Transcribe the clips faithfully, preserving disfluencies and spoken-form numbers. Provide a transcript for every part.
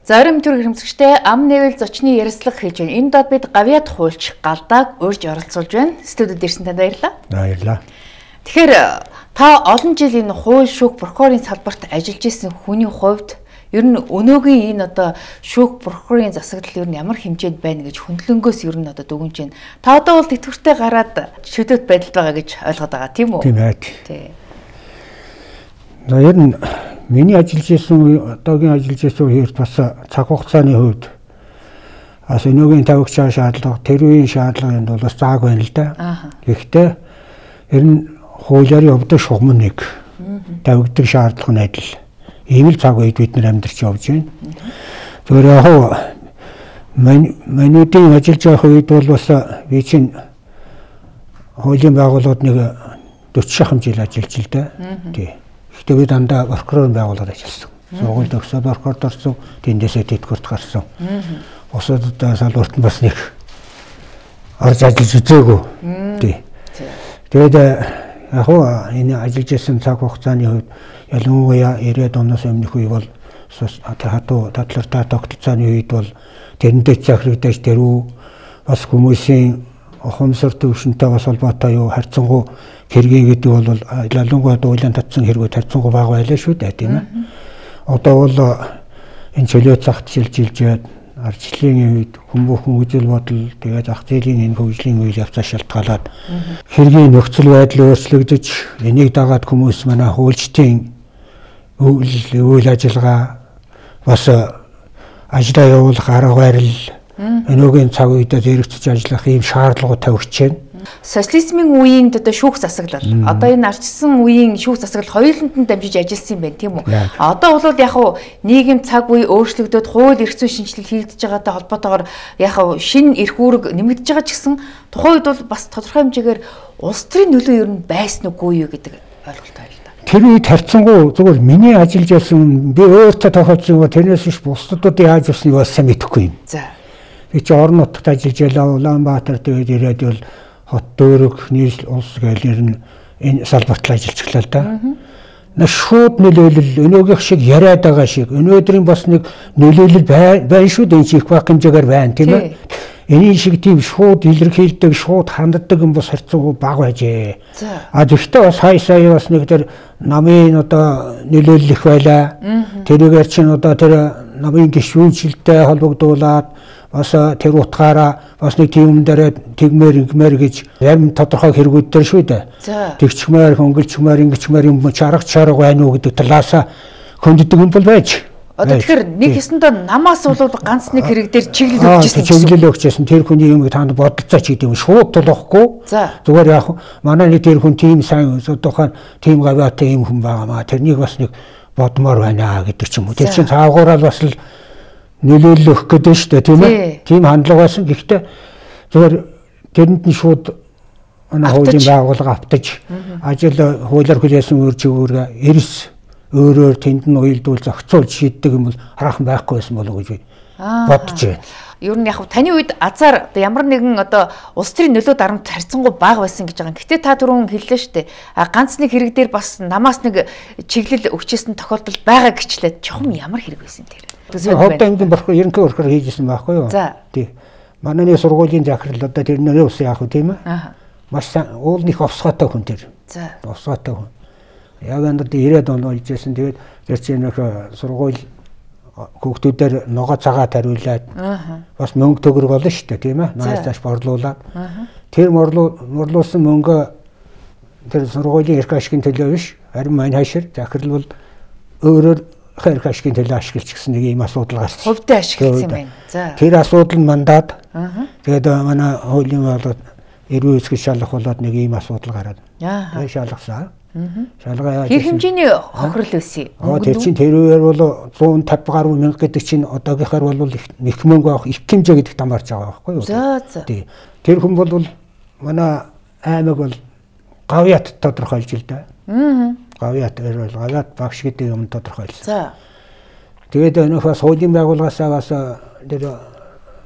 Зарим төр хэмжигчтэй ам нэвэл зочны ярилцлага хийж байна. Энэ дод бид гавьяд хуульч галдааг урьж оролцуулж байна. Студид ирсэн танд баярлалаа. Баярлалаа. Тэгэхээр та олон жил энэ хууль шүүх прокурорын салбарт ажиллаж исэн хүний хувьд ер нь өнөөгийн энэ одоо шүүх прокурорын засаглал ер нь ямар хэмжээнд байна гэж хөндлөнгөөс ер нь одоо дүгнэж байна. Та одоо бол тэтгэвртэй гараад шүдэт байдалд байгаа гэж ойлгоод байгаа тийм үү? Тийм ээ. Тий. За ер нь миний ажиллаж исэн одоогийн ажиллаж исэн үеэр бас цаг хугацааны хувьд бас өнөөгийн тавигчаа шаардлага, тэр үеийн шаардлагын бол бас зааг байна л да. Гэхдээ ер нь хуулиар явдаг шугам нэг тавигдаг шаардлага нь адил. Ийм л цаг үед бид нар амьдарч явж байна. Зөвхөн яг манайдын ажиллаж байх үед бол бас би чинь хуулийн байгууллагууд нэг дөрвөн шахам жил ажиллаж л да. Тий. Гэхдээ би дандаа прокурорын байгууллагаар ажилласан. Сургуульд өгсөд прокурорд орсон, тэндээсээ тэтгэврт гарсан. Бусадтай салбарт нь бас нэг орж ажиллаж үзээгүй. Тий. Тэгээд яг хоо энэ ажиллаж исэн цаг хугацааны хувьд ялангуяа ирээд оноос өмнөх үе бол хатуу татлартаа тогтолцооны үед бол тэрэндээ захирагдаж тэрүү бас хүмүүсийн ухамсар төвшөнтэй бас холбоотой юу харьцангуй хэрэг гэдэг бол ялангуяа дуулан татсан хэрэгүүд харьцангуй бага байлаа шүү дээ тийм ээ. Одоо бол энэ чөлөө цагт шилжилжээд арчлалын үед хүмүүхэн үзэл бодол тэгээд ах зээлийн энэ хөгжлийн үйл явцаа шалтгаалаад хэргийн нөхцөл байдал өөрчлөгдөж энийг дагаад хүмүүс манай хуульчдын үйл ажиллагаа бас ажлаа явуулах арга барил өнөөгийн цаг үедээ зэрэгцэж ажиллах ийм шаардлагууд тавьж байна. Социализмын үеийн одоо шүүх засаглал одоо энэ ардчсан үеийн шүүх засаглал хоёуланд нь дамжиж ажилласан юм байна тийм үү? Одоо бол яг хуу нийгэм цаг үе өөрчлөгдөд хууль эрх зүйн шинжилэл хийгдэж байгаатай холбоотойгоор яг хуу шинэ эрх үүрэг нэмэгдэж байгаа ч гэсэн тухайн үед бол бас тодорхой хэмжээгээр улс төрийн нөлөө ер нь байсан үгүй юу гэдэг ойлголт байна л да. Тэр үед харьцангуй зөвхөн миний ажиллаж байсан би өөртөө тохиолдсон юм тэрнээс биш бусдуудын яаж явсныг бас сайн мэдэхгүй юм. За. Би чи орон нутагт ажиллаж ялаа Улаанбаатар тэгээд ирээд бол хот дөөрөг нийслэл улс гээл нь энэ салбарт ажиллачихлаа л да. Нэг шууд нөлөөлөл өнөөгийнх шиг яриад байгаа шиг өнөөдрийн бас нэг нөлөөлөл байна шүү дээ их баг хэмжээгээр байна тийм ээ. Энэ шиг тийм шууд илэрхийлдэг шууд ханддаг юм бас харьцангуй бага байжээ. А гэхдээ бас хай сая бас нэг тэр намын одоо нөлөөлөл их байлаа. Тэрүүгээр чинь одоо тэр намын гишүүнчлэлтэй холбогдуулаад бас тэр утгаараа бас нэг тийм юм дээр тэгмээр ингэмээр гэж зарим тодорхой хэрэгүүд дээр шүү дээ. Тэгчмээр хөнгөлчмээр ингэчмээр юм чарга чарга байна уу гэдэг талаасаа хөнддөг юм бол байж. Одоо тэгэхээр нэг хэсэндээ намаас бол ганц нэг хэрэг дээр чиглэл өгч ирсэн. Чиглэл өгч ирсэн. Тэр хүний юмыг танд бодолцооч гэдэг юм шууд тулахгүй. Зүгээр яг манай нэг тэр хүн тийм сайн тухайн тийм гавьяатай юм хүн байгаамаа. Тэрнийг бас нэг бодмоор байна гэдэг ч юм уу. Тэр чинь цаагаараа бас л нөлөөлөл өгөх гэдэг нь шүү дээ тийм ээ. Тийм хандлага байсан. Гэхдээ зүгээр тэрэнд нь шууд манай хуулийн байгууллага автаж ажил хуулиар хүлээсэн үр жигүүрээ эрс өөрөөр тэнд нь уйлдуул зохицуулж шийддэг юм бол хараахан байхгүй байсан болов уу гэж бодож байна. Ер нь яг таны үед азар ямар нэгэн одоо улс төрийн нөлөө дарамт харьцангуй бага байсан гэж байгаа. Гэтэ та түрүүн хэллээ шүү дээ. А ганц нэг хэрэг дээр бас намаас нэг чиглэл өгчээсэн тохиолдол байгаа гэчлээ. Чухам ямар хэрэг байсан тэр? Ховд аймгийн прокурор ерөнхий прокурор хийжсэн байхгүй юу? Тий. Манай нэг сургуулийн захирал одоо тэр нэрээ ус яах вэ тийм ээ? Маш уулын их овсгоотой хүн тэр. За. Овсгоотой хүн. Яг энэ ирээд он болж байсан. Тэгээд тэр чинь нэг сургууль хүүхдүүдээр ногоо цагаа тариулаад бас мөнгө төгрөг олно шүү дээ тийм ээ. Нааш тааш борлуулаад. Тэр морлуулсан мөнгө тэр сургуулийн эрх ашигын төлөө биш. Харин маань хашир захирал бол өөрөөр хэрэг ашигын төлөө ашиглаж гисэн нэг ийм асуудал гарсан. Хувьдаа ашигласан юм байна. За. Тэр асуудал нь мандаад. Тэгээд манай хуулийн болоод эрүү эсгэж шалгах болоод нэг ийм асуудал гараад. Тэгээд шалгасан. Шалгаа яаж хэр хэмжээний хохирол байсан юм? Тэр чинь тэр үеэр бол зуун тавьж гаруй мянга гэдэг чинь одоогийнхаар бол их мөнгө авах их хэмжээ гэдэг тамарч байгаа байхгүй юу? За за. Тэр хүн бол манай аймаг бол гавьяат тодорхойлж л да. Аа. Гавьяат бол гавьяат багш гэдэг юм тодорхойлсон. За. Тэгээд өнөөх бас хуулийн байгууллагаасаа бас тэр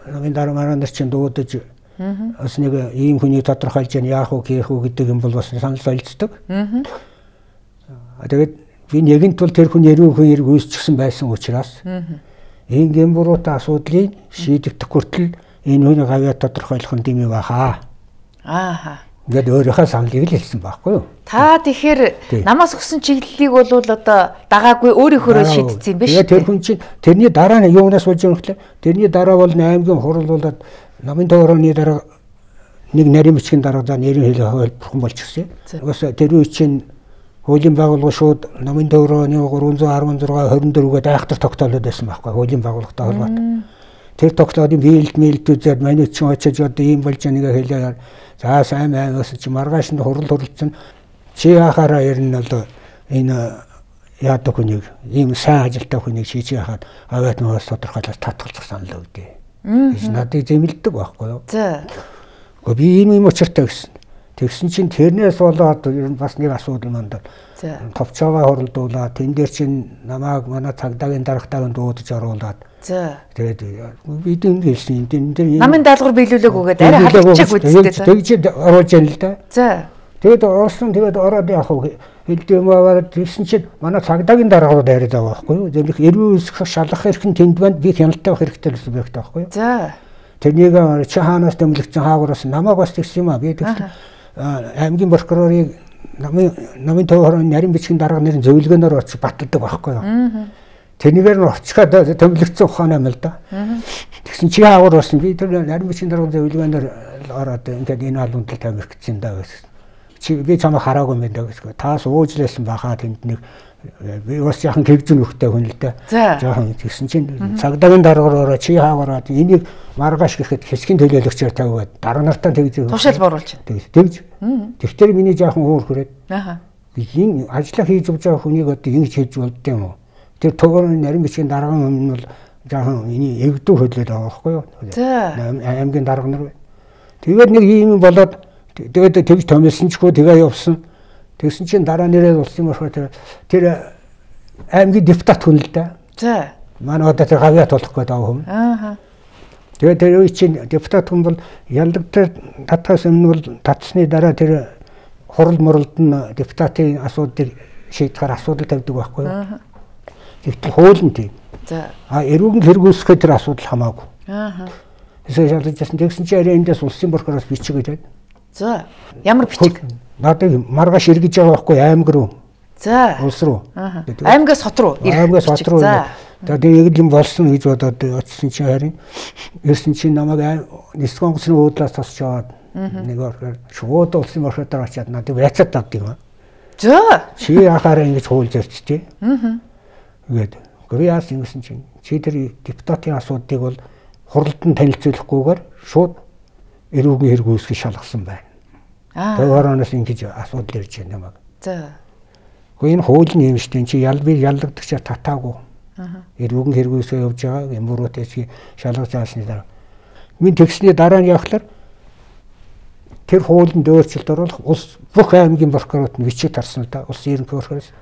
намын дараа маргаан нар чинь дуудаж бас нэг ийм хүний тодорхойлж яах вэ хийх үү гэдэг юм бол бас санал солилцдог. Аа. Тэгээд би нэгэнт бол тэр хүн яруу хүн яриг үүсчихсэн байсан учраас энэ гэмбуруутай асуудлыг шийдэгдэх хүртэл энэ хүний гавьяа тодорхойлох нь дэмий бахаа. Ааха. Ингээд өөрийнхөө саналыг л хэлсэн байхгүй юу? Та тэгэхээр намаас өгсөн чиглэлийг бол одоо дагаагүй өөрийнхөө шийдсэн юм биш үү? Тэр хүн чинь тэрний дараа нь юунаас болж байгаа юм бэ? Тэрний дараа бол аймгийн хурал болоод намын төвөрөний дараа нэг нарийн бичгийн дараа за нэрийн хэлээ хөлбөрхөн болчихсон. Угаас тэр үе чинь хуулийн байгууллага шууд намын төвөрөний гурван зуун арван зургаа хорин дөрвөд айхтар тогтоолоод байсан байхгүй хуулийн байгууллагатай холбоотой. Тэр тогтоолын биелд мэлдүүд манай чинь очиж одоо ийм болж байгаа нэг хэлээ. За сайн аймаас чи маргааш нь хурал хурлцсан чи яхаараа ер нь бол энэ яадаг хүнийг ийм сайн ажилтай хүнийг шийж яхаад аваад нөөс тодорхойлож татгалзах санал өгдөө. Гэж надыг зэмлдэг байхгүй юу? За. Гэхдээ би ийм юм учиртай гэсэн. Тэгсэн чинь тэрнээс болоод ер нь бас нэг асуудал мандаа. За. Товчоогоо хуралдуулаад тэн дээр чинь намааг манай цагдаагийн дарагтайг дуудаж оруулаад. За. Тэгээд бид энэ хэлсэн энэ дээр намын даалгавар биелүүлээг үгээд арай халдчих үстэй. Тэгж оруулж яана л да. За. Тэгээд орсон тэгээд ороод яах вэ? Хэлдэм аваад тэгсэн чинь манай цагдаагийн дараагаар дайраад байгаа байхгүй юу? Зэрэг эрүү үсэх шалгах хэрэг нь тэнд байна. Би хяналттай байх хэрэгтэй гэсэн байх таахгүй юу? За. Тэрнийг чи хаанаас тэмлэгцэн хаагураас намайг бас тэгсэн юм аа. Би тэгсэн аймгийн прокурорыг намын намын төвөрөний нарийн бичгийн дарга нэрийн зөвлөгөөнөөр очиж баталдаг байхгүй юу? Тэрнийгээр нь очиход тэмлэгцэн ухаанаа мэл да. Тэгсэн чи хаагур болсон. Би тэр нарийн бичгийн дарга зөвлөгөөнөөр ороод ингээд энэ албанд тавих гэсэн даа гэсэн. Чи би чамаа хараагүй юм даа гэсэн. Таас уучлаасан бахаа тэнд нэг би бас яхан гэрзэн нөхтэй хүн л дээ. Жаахан тэгсэн чинь цагдаагийн дараагаар чи хаагаараа энийг маргааш гэхэд хэсгийн төлөөлөгчөөр тавиад дарга нартаа тэгж тушаал боруулж. Тэгж. Тэгтэр миний жаахан өөр хүрээд. Аха. Би энэ ажиллаа хийж явж байгаа хүнийг одоо ингэж хийж болд юм уу? Тэр төгөрөний нарийн бичгийн дарга юм бол жаахан энийг эгдүү хөдлөд байгаа байхгүй юу? Аймгийн дарга нар. Тэгээд нэг юм болоод тэгээд тэгж томилсон ч хөө тэгээ явсан. Тэгсэн чинь дараа нэрээ улсын болохоор тэр тэр аймгийн депутат хүн л да. За. Манай одоо тэр гавьяа тулах гэдэг хүн. Аа. Тэгээд тэр үе чинь депутат хүн бол ялдагтай татгаас өмнө бол татсны дараа тэр хурал муралд нь депутатын асуудлыг шийдэхээр асуудал тавьдаг байхгүй юу? Аа. Тэгтэл хууль нь тийм. За. А эрүүгийн хэрэг үүсгэхэд тэр асуудал хамаагүй. Аа. Эсвэл шалгажсэн тэгсэн чинь арай эндээс улсын прокуроос бичиг гэдэг. За. Ямар бичиг? Надад маргааш эргэж байгаа байхгүй аймаг руу. За. Улс руу. Аймагаас хот руу. Аймагаас хот руу. Тэгээд яг юм болсон гэж бодоод очсон чинь харин ерсэн чинь намайг нисгэн онгоцны уудлаас тосч аваад нэг орохоор шууд улсын прокурор очиад надад яцаад авд юм. За. Чи яхаараа ингэж хуулж ярьчтэй. Аа. Ингээд гоо яасан гэсэн чинь чи тэр депутатын асуудыг бол хуралд нь танилцуулахгүйгээр шууд эрүүгийн хэрэг үүсгэж шалгасан байна. Аа. Төвөрөөс ингэж асуудал ирж байна намайг. За. Гэхдээ энэ хууль нь юм шүү дээ. Чи ял би яллагдагчаа татаагүй. Аа. Эрүүгийн хэрэг үүсгэж явж байгаа юм буруутэйс шалгаж аасны дараа. Минь тэгсний дараа нь явахлаар тэр хуулинд өөрчлөлт оруулах улс бүх аймгийн прокурорт нь бичиг тарсан л да. Улсын ерөнхий прокуророос.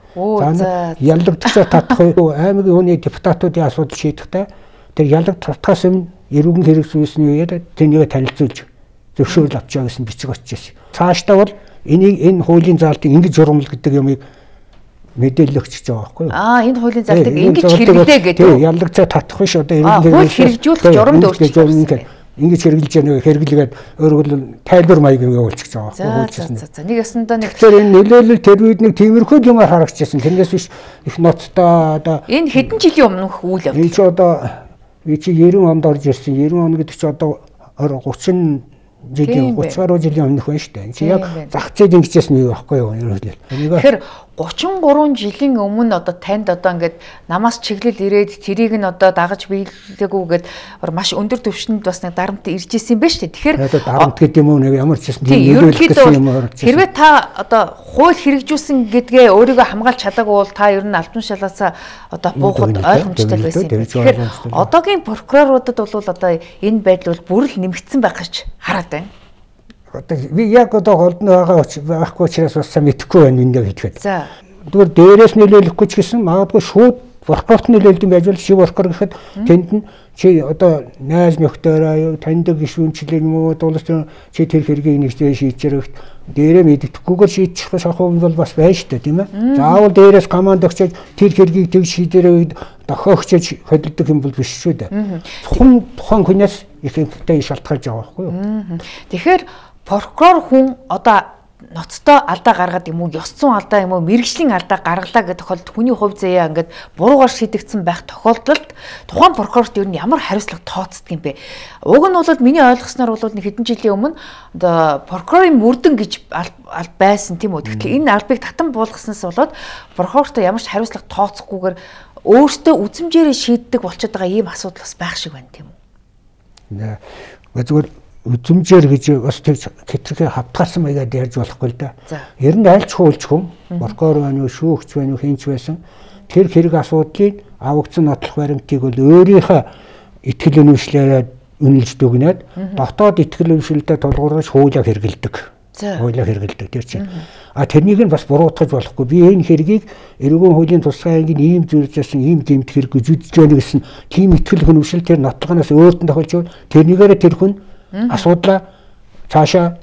За яллагдагчаа татах уу аймгийн хүний депутатуудын асуудал шийдэхдээ тэр яллагдахаас өмнө эрүүгийн хэрэг үүсний үеэр тэнийг танилцуулж зөвшөөрөл авчаа гэсэн бичиг очиж. Цаашдаа бол энийг энэ хуулийн заалтыг ингэж журамл гэдэг юмыг мэдээлэл өгч байгаа байхгүй юу? Аа энэ хуулийн заалтыг ингэж хэрэглээ гэдэг. Тийм яллагцаа татах биш одоо эргэлгээ хэрэгжүүлэх журамд өөрчлөлт. Ингэж хэрэгжилж яана хэрэглэгээд өөрөөр тайлбар маяг ингээ уулчих байгаа байхгүй юу? За за нэг ясандаа нэг тэгэхээр энэ нөлөөлөл тэр үед нэг тиймэрхүү юмар харагдчихсан. Тэрнээс биш их ноцтой одоо энэ хэдэн жилийн өмнөх үйл явдал. Энэ ч одоо би чи девяносто онд орж ирсэн. девяносто он гэдэг чи одоо thirty жилийн thirty гаруй жилийн өмнөх байна шүү дээ. Чи яг зах зээл ингэжсэн юм байхгүй юу? Тэгэхээр thirty-three жилийн өмнө одоо танд одоо ингээд намаас чиглэл ирээд тэрийг нь одоо дагаж биелээгүйгээд маш өндөр түвшинд бас нэг дарамт ирж исэн юм байна шүү дээ. Тэгэхээр дарамт гэдэг юм уу нэг ямар ч юм нөлөөлөх гэсэн юм орж ирсэн. Хэрвээ та одоо хууль хэрэгжүүлсэн гэдгээ өөрийгөө хамгаалж чадаагүй бол та ер нь албан шалгаасаа одоо буухад ойлгомжтой байсан юм. Тэгэхээр одоогийн прокуроруудад бол одоо энэ байдал бол бүр л нэмэгдсэн байх гэж хараад байна. Одоо би яг одоо голдно байгаа байхгүй учраас бас сайн мэдэхгүй байна энэ гэхэд. За. Тэгвэл дээрээс нөлөөлөхгүй ч гэсэн магадгүй шууд прокурорт нөлөөлдөг байж бол шив прокурор гэхэд тэнд нь чи одоо найз нөхдөөрөө таньдаг гишүүнчлэн юм уу дуулах чи тэр хэргийг нэгтэй шийдчихэрэг дээрээ мэддэхгүйгээр шийдчих шахуу бол бас байна шүү дээ тийм ээ. Заавал дээрээс команд өгчөөд тэр хэргийг тэг шийдэрээ дохиогчож хөдөлдөг юм бол биш шүү дээ. Тухайн тухайн хүнээс их ихтэй шалтгаалж байгаа байхгүй юу? Тэгэхээр прокурор хүн одоо ноцтой алдаа гаргаад юм уу, ёс зүйн алдаа юм уу, мэргэжлийн алдаа гаргалаа гэдэг тохиолдолд хүний хувь заяа ингээд буруугаар шийдэгдсэн байх тохиолдолд тухайн прокурорт ер нь ямар хариуцлага тооцдог юм бэ? Уг нь бол миний ойлгосноор бол нэг хэдэн жилийн өмнө одоо прокурорын мөрдөн гэж аль байсан тийм үү. Тэгэхээр энэ албыг татан буулгаснаас болоод прокурорт ямар ч хариуцлага тооцохгүйгээр өөртөө үзмжээрээ шийддэг болчиход байгаа ийм асуудал бас байх шиг байна тийм үү? Нэ. Зүгээр үзмжээр гэж бас тэр хэтэрхий хавтгаарсан маягаар ярьж болохгүй л да. Ер нь аль ч хуульч хүн, прокурор байна уу, шүүгч байна уу, хинч байсан тэр хэрэг асуудлыг авагдсан нотлох баримтыг бол өөрийнхөө итгэл үнэмшлээрээ үнэлж дүгнээд дотоод итгэл үнэмшлэлдээ тулгуурлаж хуулиар хэрэгэлдэг. Хуулиар хэрэгэлдэг тэр чинь. А тэрнийг нь бас буруутгаж болохгүй. Би энэ хэргийг эрүүгийн хуулийн тусгай ангийн ийм зүйлжсэн ийм гэмт хэрэг гэж үзэж байна гэсэн тийм итгэл үнэмшил тэр нотлохоноос өөртөө тохиолж байна. Тэрнийгээр тэр хүн асуудлаа цаашаа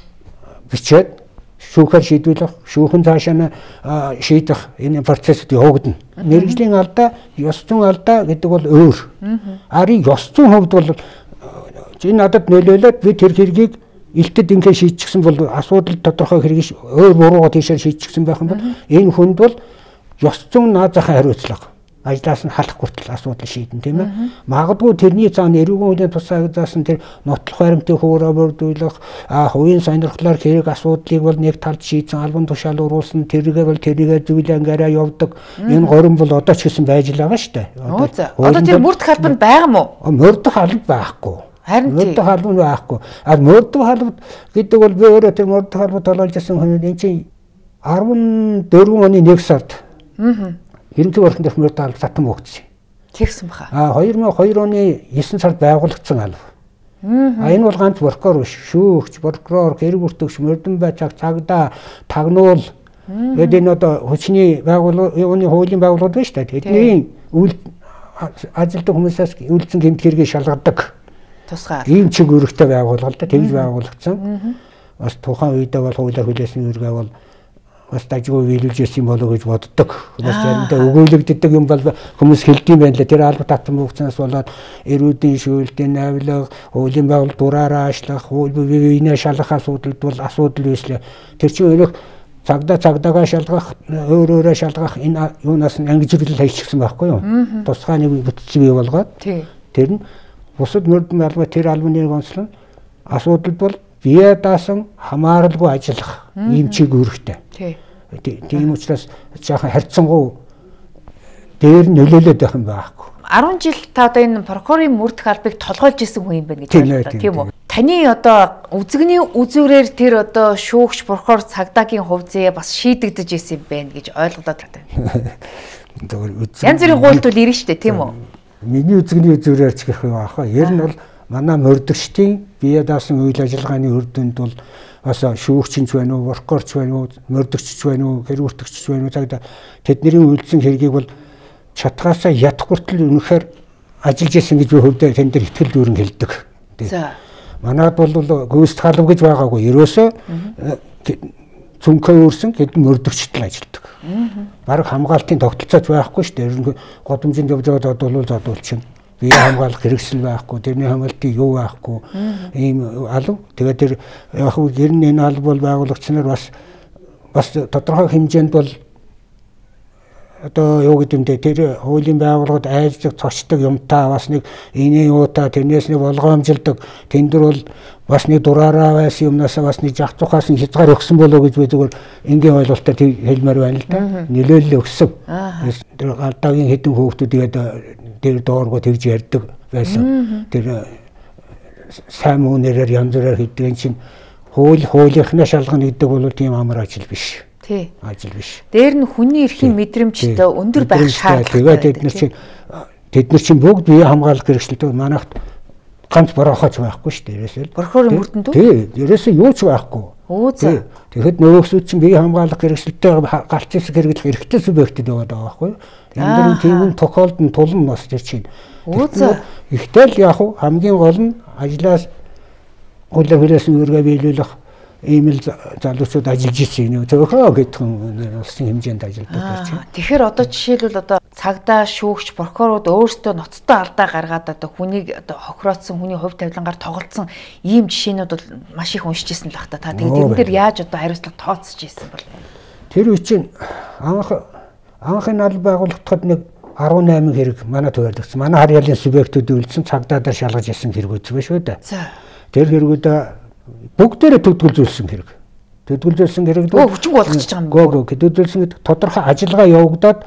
бичээд шүүхээр шийдвэрлэх, шүүхэн цаашаа нь шийдэх энэ процессд явагдана. Мэргэжлийн алдаа, ёс зүйн алдаа гэдэг бол өөр. Ари ёс зүйн хувьд бол энэ надад нөлөөлөд би тэр хэргийг илтэд ингээ шийдчихсэн бол асуудал тодорхой хэрэг өөр буруугаар тийшээ шийдчихсэн байх юм бол энэ хүнд бол ёс зүйн наазахын хариуцлага ажлаас нь халах хүртэл асуудал шийдэн тийм ээ. Магадгүй тэрний цаана эрүүгийн хуулийн тусгай заасан тэр нотлох баримтыг хөөрөө бүрдүүлэх, а хувийн сонирхлоор хэрэг асуудлыг бол нэг талд шийдсэн албан тушаал уруулсан тэргээ бол тэрийгээ зүйлэнгээр явдаг. Энэ горин бол одоо ч гэсэн байж л байгаа шүү дээ. Одоо тэр мөрдөх албанд байгаа мó? Мөрдөх албанд байхгүй. Харин тийм. Мөрдөх албанд байхгүй. А мөрдөх албанд гэдэг бол би өөрөө тэр мөрдөх албанд толгойжсэн хүн энэ чинь арван дөрвөн оны нэг сард. Аа. Ерөнхий орхон дэх мөрдөх алба татан өгдсөн. Тэгсэн баха. А хоёр мың и deux оны девятнадцать сард байгуулагдсан алба. А энэ бол ганц прокурор биш, шүүгч, прокурор, хэрэг бүртгэгч, мөрдөн байцааг, цагдаа, тагнуул. Тэгээд энэ одоо хүчний байгууллагын хуулийн байгууллагууд байна шүү дээ. Тэдний үйл ажилтг хүмүүсээс үйлдсэн гэмт хэргийг шалгадаг. Тусгай. Ийм чиг үүрэгтэй байгууллага л да тэгж байгуулагдсан. Бас тухайн үедээ бол хуулиар хүлээсэн үүргээ бол бас дажгүй биелүүлж ирсэн болоо гэж боддог. Бас заримдаа өгөөлөгддөг юм бол хүмүүс хэлдэм байна л. Тэр алба татсан бүгцнаас болоод эрүүдийн шүүлтийн навлаг, хуулийн байгууллага дураараа ашлах, хуулийн шалгах асуудалд бол асуудал үүслээ. Тэр чинь өөрөөх цагдаа цагдаагаа шалгах, өөр өөрөө шалгах энэ юунаас нь ангижиглэл хийчихсэн байхгүй юу? Тусгай нэг бүтцийг бий болгоод. Тэр нь бусад мөрдөн алба тэр албаны онцлог асуудалд бол бие даасан хамааралгүй ажиллах ийм чиг үүрэгтэй. Тийм учраас жаахан харьцангуй дээр нөлөөлөд байх юм байхгүй. арван жил та одоо энэ прокурорын мөрдөх албыг толгойлж исэн хүн юм байна гэж бодлоо тийм үү? Таны одоо үзэгний үзүүрээр тэр одоо шүүгч прокурор цагдаагийн хувь зээ бас шийдэгдэж исэн юм байна гэж ойлгодод байна. Янз бүрийн гуйлт бол ирнэ шүү дээ тийм үү? Миний үзэгний үзүүрээр ч гэх юм аах. Ер нь бол манай мөрдөгчдийн бие даасан үйл ажиллагааны үр дүнд бол бас шүүгчинч байна уу, прокурорч байна уу, мөрдөгчч байна уу, хэрэг бүртгэгч байна уу цагдаа тэдний үйлдсэн хэргийг бол чатгаасаа ядах хүртэл үнэхээр ажиллаж исэн гэж би хөвдөө тань дээр ихтгэл дүүрэн хэлдэг. За. Манайд бол гүйцэтгэх халам гэж байгаагүй. Ерөөсөө цүнхээ өөрсөн хэдэн мөрдөгчтөл ажилладаг. Бараг хамгаалтын тогтолцооч байхгүй шүү дээ. Годомжинд явж байгаад бол задуулчин. Бие хамгаалах хэрэгсэл байхгүй, тэрний хамгаалтын юу байхгүй. Ийм алав. Тэгээд тэр яг нь ер нь энэ алба бол байгуулагчнаар бас бас тодорхой хэмжээнд бол одоо юу гэдэг нь тэр хуулийн байгууллагад айлждаг цочдог юмтай бас нэг эний юутай тэрнээс нэг болгоомжилдог тэндэр бол бас нэг дураараа байсан юмнасаа бас нэг жах цухаас нь хязгаар өгсөн болоо гэж би зүгээр энгийн ойлголтоор хэлмээр байна л да. Нөлөөлөл өгсөн. Тэр гадаагийн хэдэн хүүхдүүд тэгээд тэр дооргоо тэгж ярьдаг байсан. Тэр сайн муу нэрээр янз бүрээр хийдэг чинь хууль хуулийнхнаа шалгана гэдэг бол тийм амар ажил биш. Тий. Ажил биш. Дээр нь хүний эрхийн мэдрэмжтэй өндөр байх шаардлагатай. Тэгээд тэд нар чинь тэд нар чинь бүгд бие хамгаалах хэрэгсэлтэй манайхад ганц борохооч байхгүй шүү дээ. Ерөөсөө. Прокурорын мөрдөнд үү? Тий. Ерөөсөө юу ч байхгүй. Оо за. Тэгэхэд нөгөөсөө чинь бие хамгаалах хэрэгсэлтэй галц хэсэг хэрэглэх эрхтэй субъектэд байгаа даа байхгүй. Тэмдэрийн тийм тохиолдолд тулан бас тэр чинь. Ихтэл яг хамгийн гол нь ажлаас гол хэрэгсэн үргээ биелүүлэх ийм л залуучууд ажиллаж ирсэн юм. Зөвхөн гэдгэн улсын хэмжээнд ажилладаг гэж. Тэгэхээр одоо жишээлбэл одоо цагдаа, шүүгч, прокурорууд өөрсдөө ноцтой алдаа гаргаад одоо хүнийг одоо хохироодсон, хүний хувь тавилангаар тоглолцсон ийм жишээнүүд бол маш их уншиж ирсэн л бах та. Тэгээд энэ дээр яаж одоо хариуцлага тооцож ирсэн бол? Тэр үе чинь анх анхны аль байгуулагдахад нэг арван найман хэрэг манай төвөрлөгдсөн. Манай харьяалын субъектүүд үйлдсэн цагдаагаар шалгаж ирсэн хэрэг үзсэн шүү дээ. Тэр хэрэгүүд бүгдээрээ төдөлгөлжүүлсэн хэрэг. Төдөлгөлжүүлсэн хэрэг дөө хүчин болгочихж байгаа юм. Гөө гөө төдөлгөлжүүлсэн гэдэг тодорхой ажиллагаа явагдаад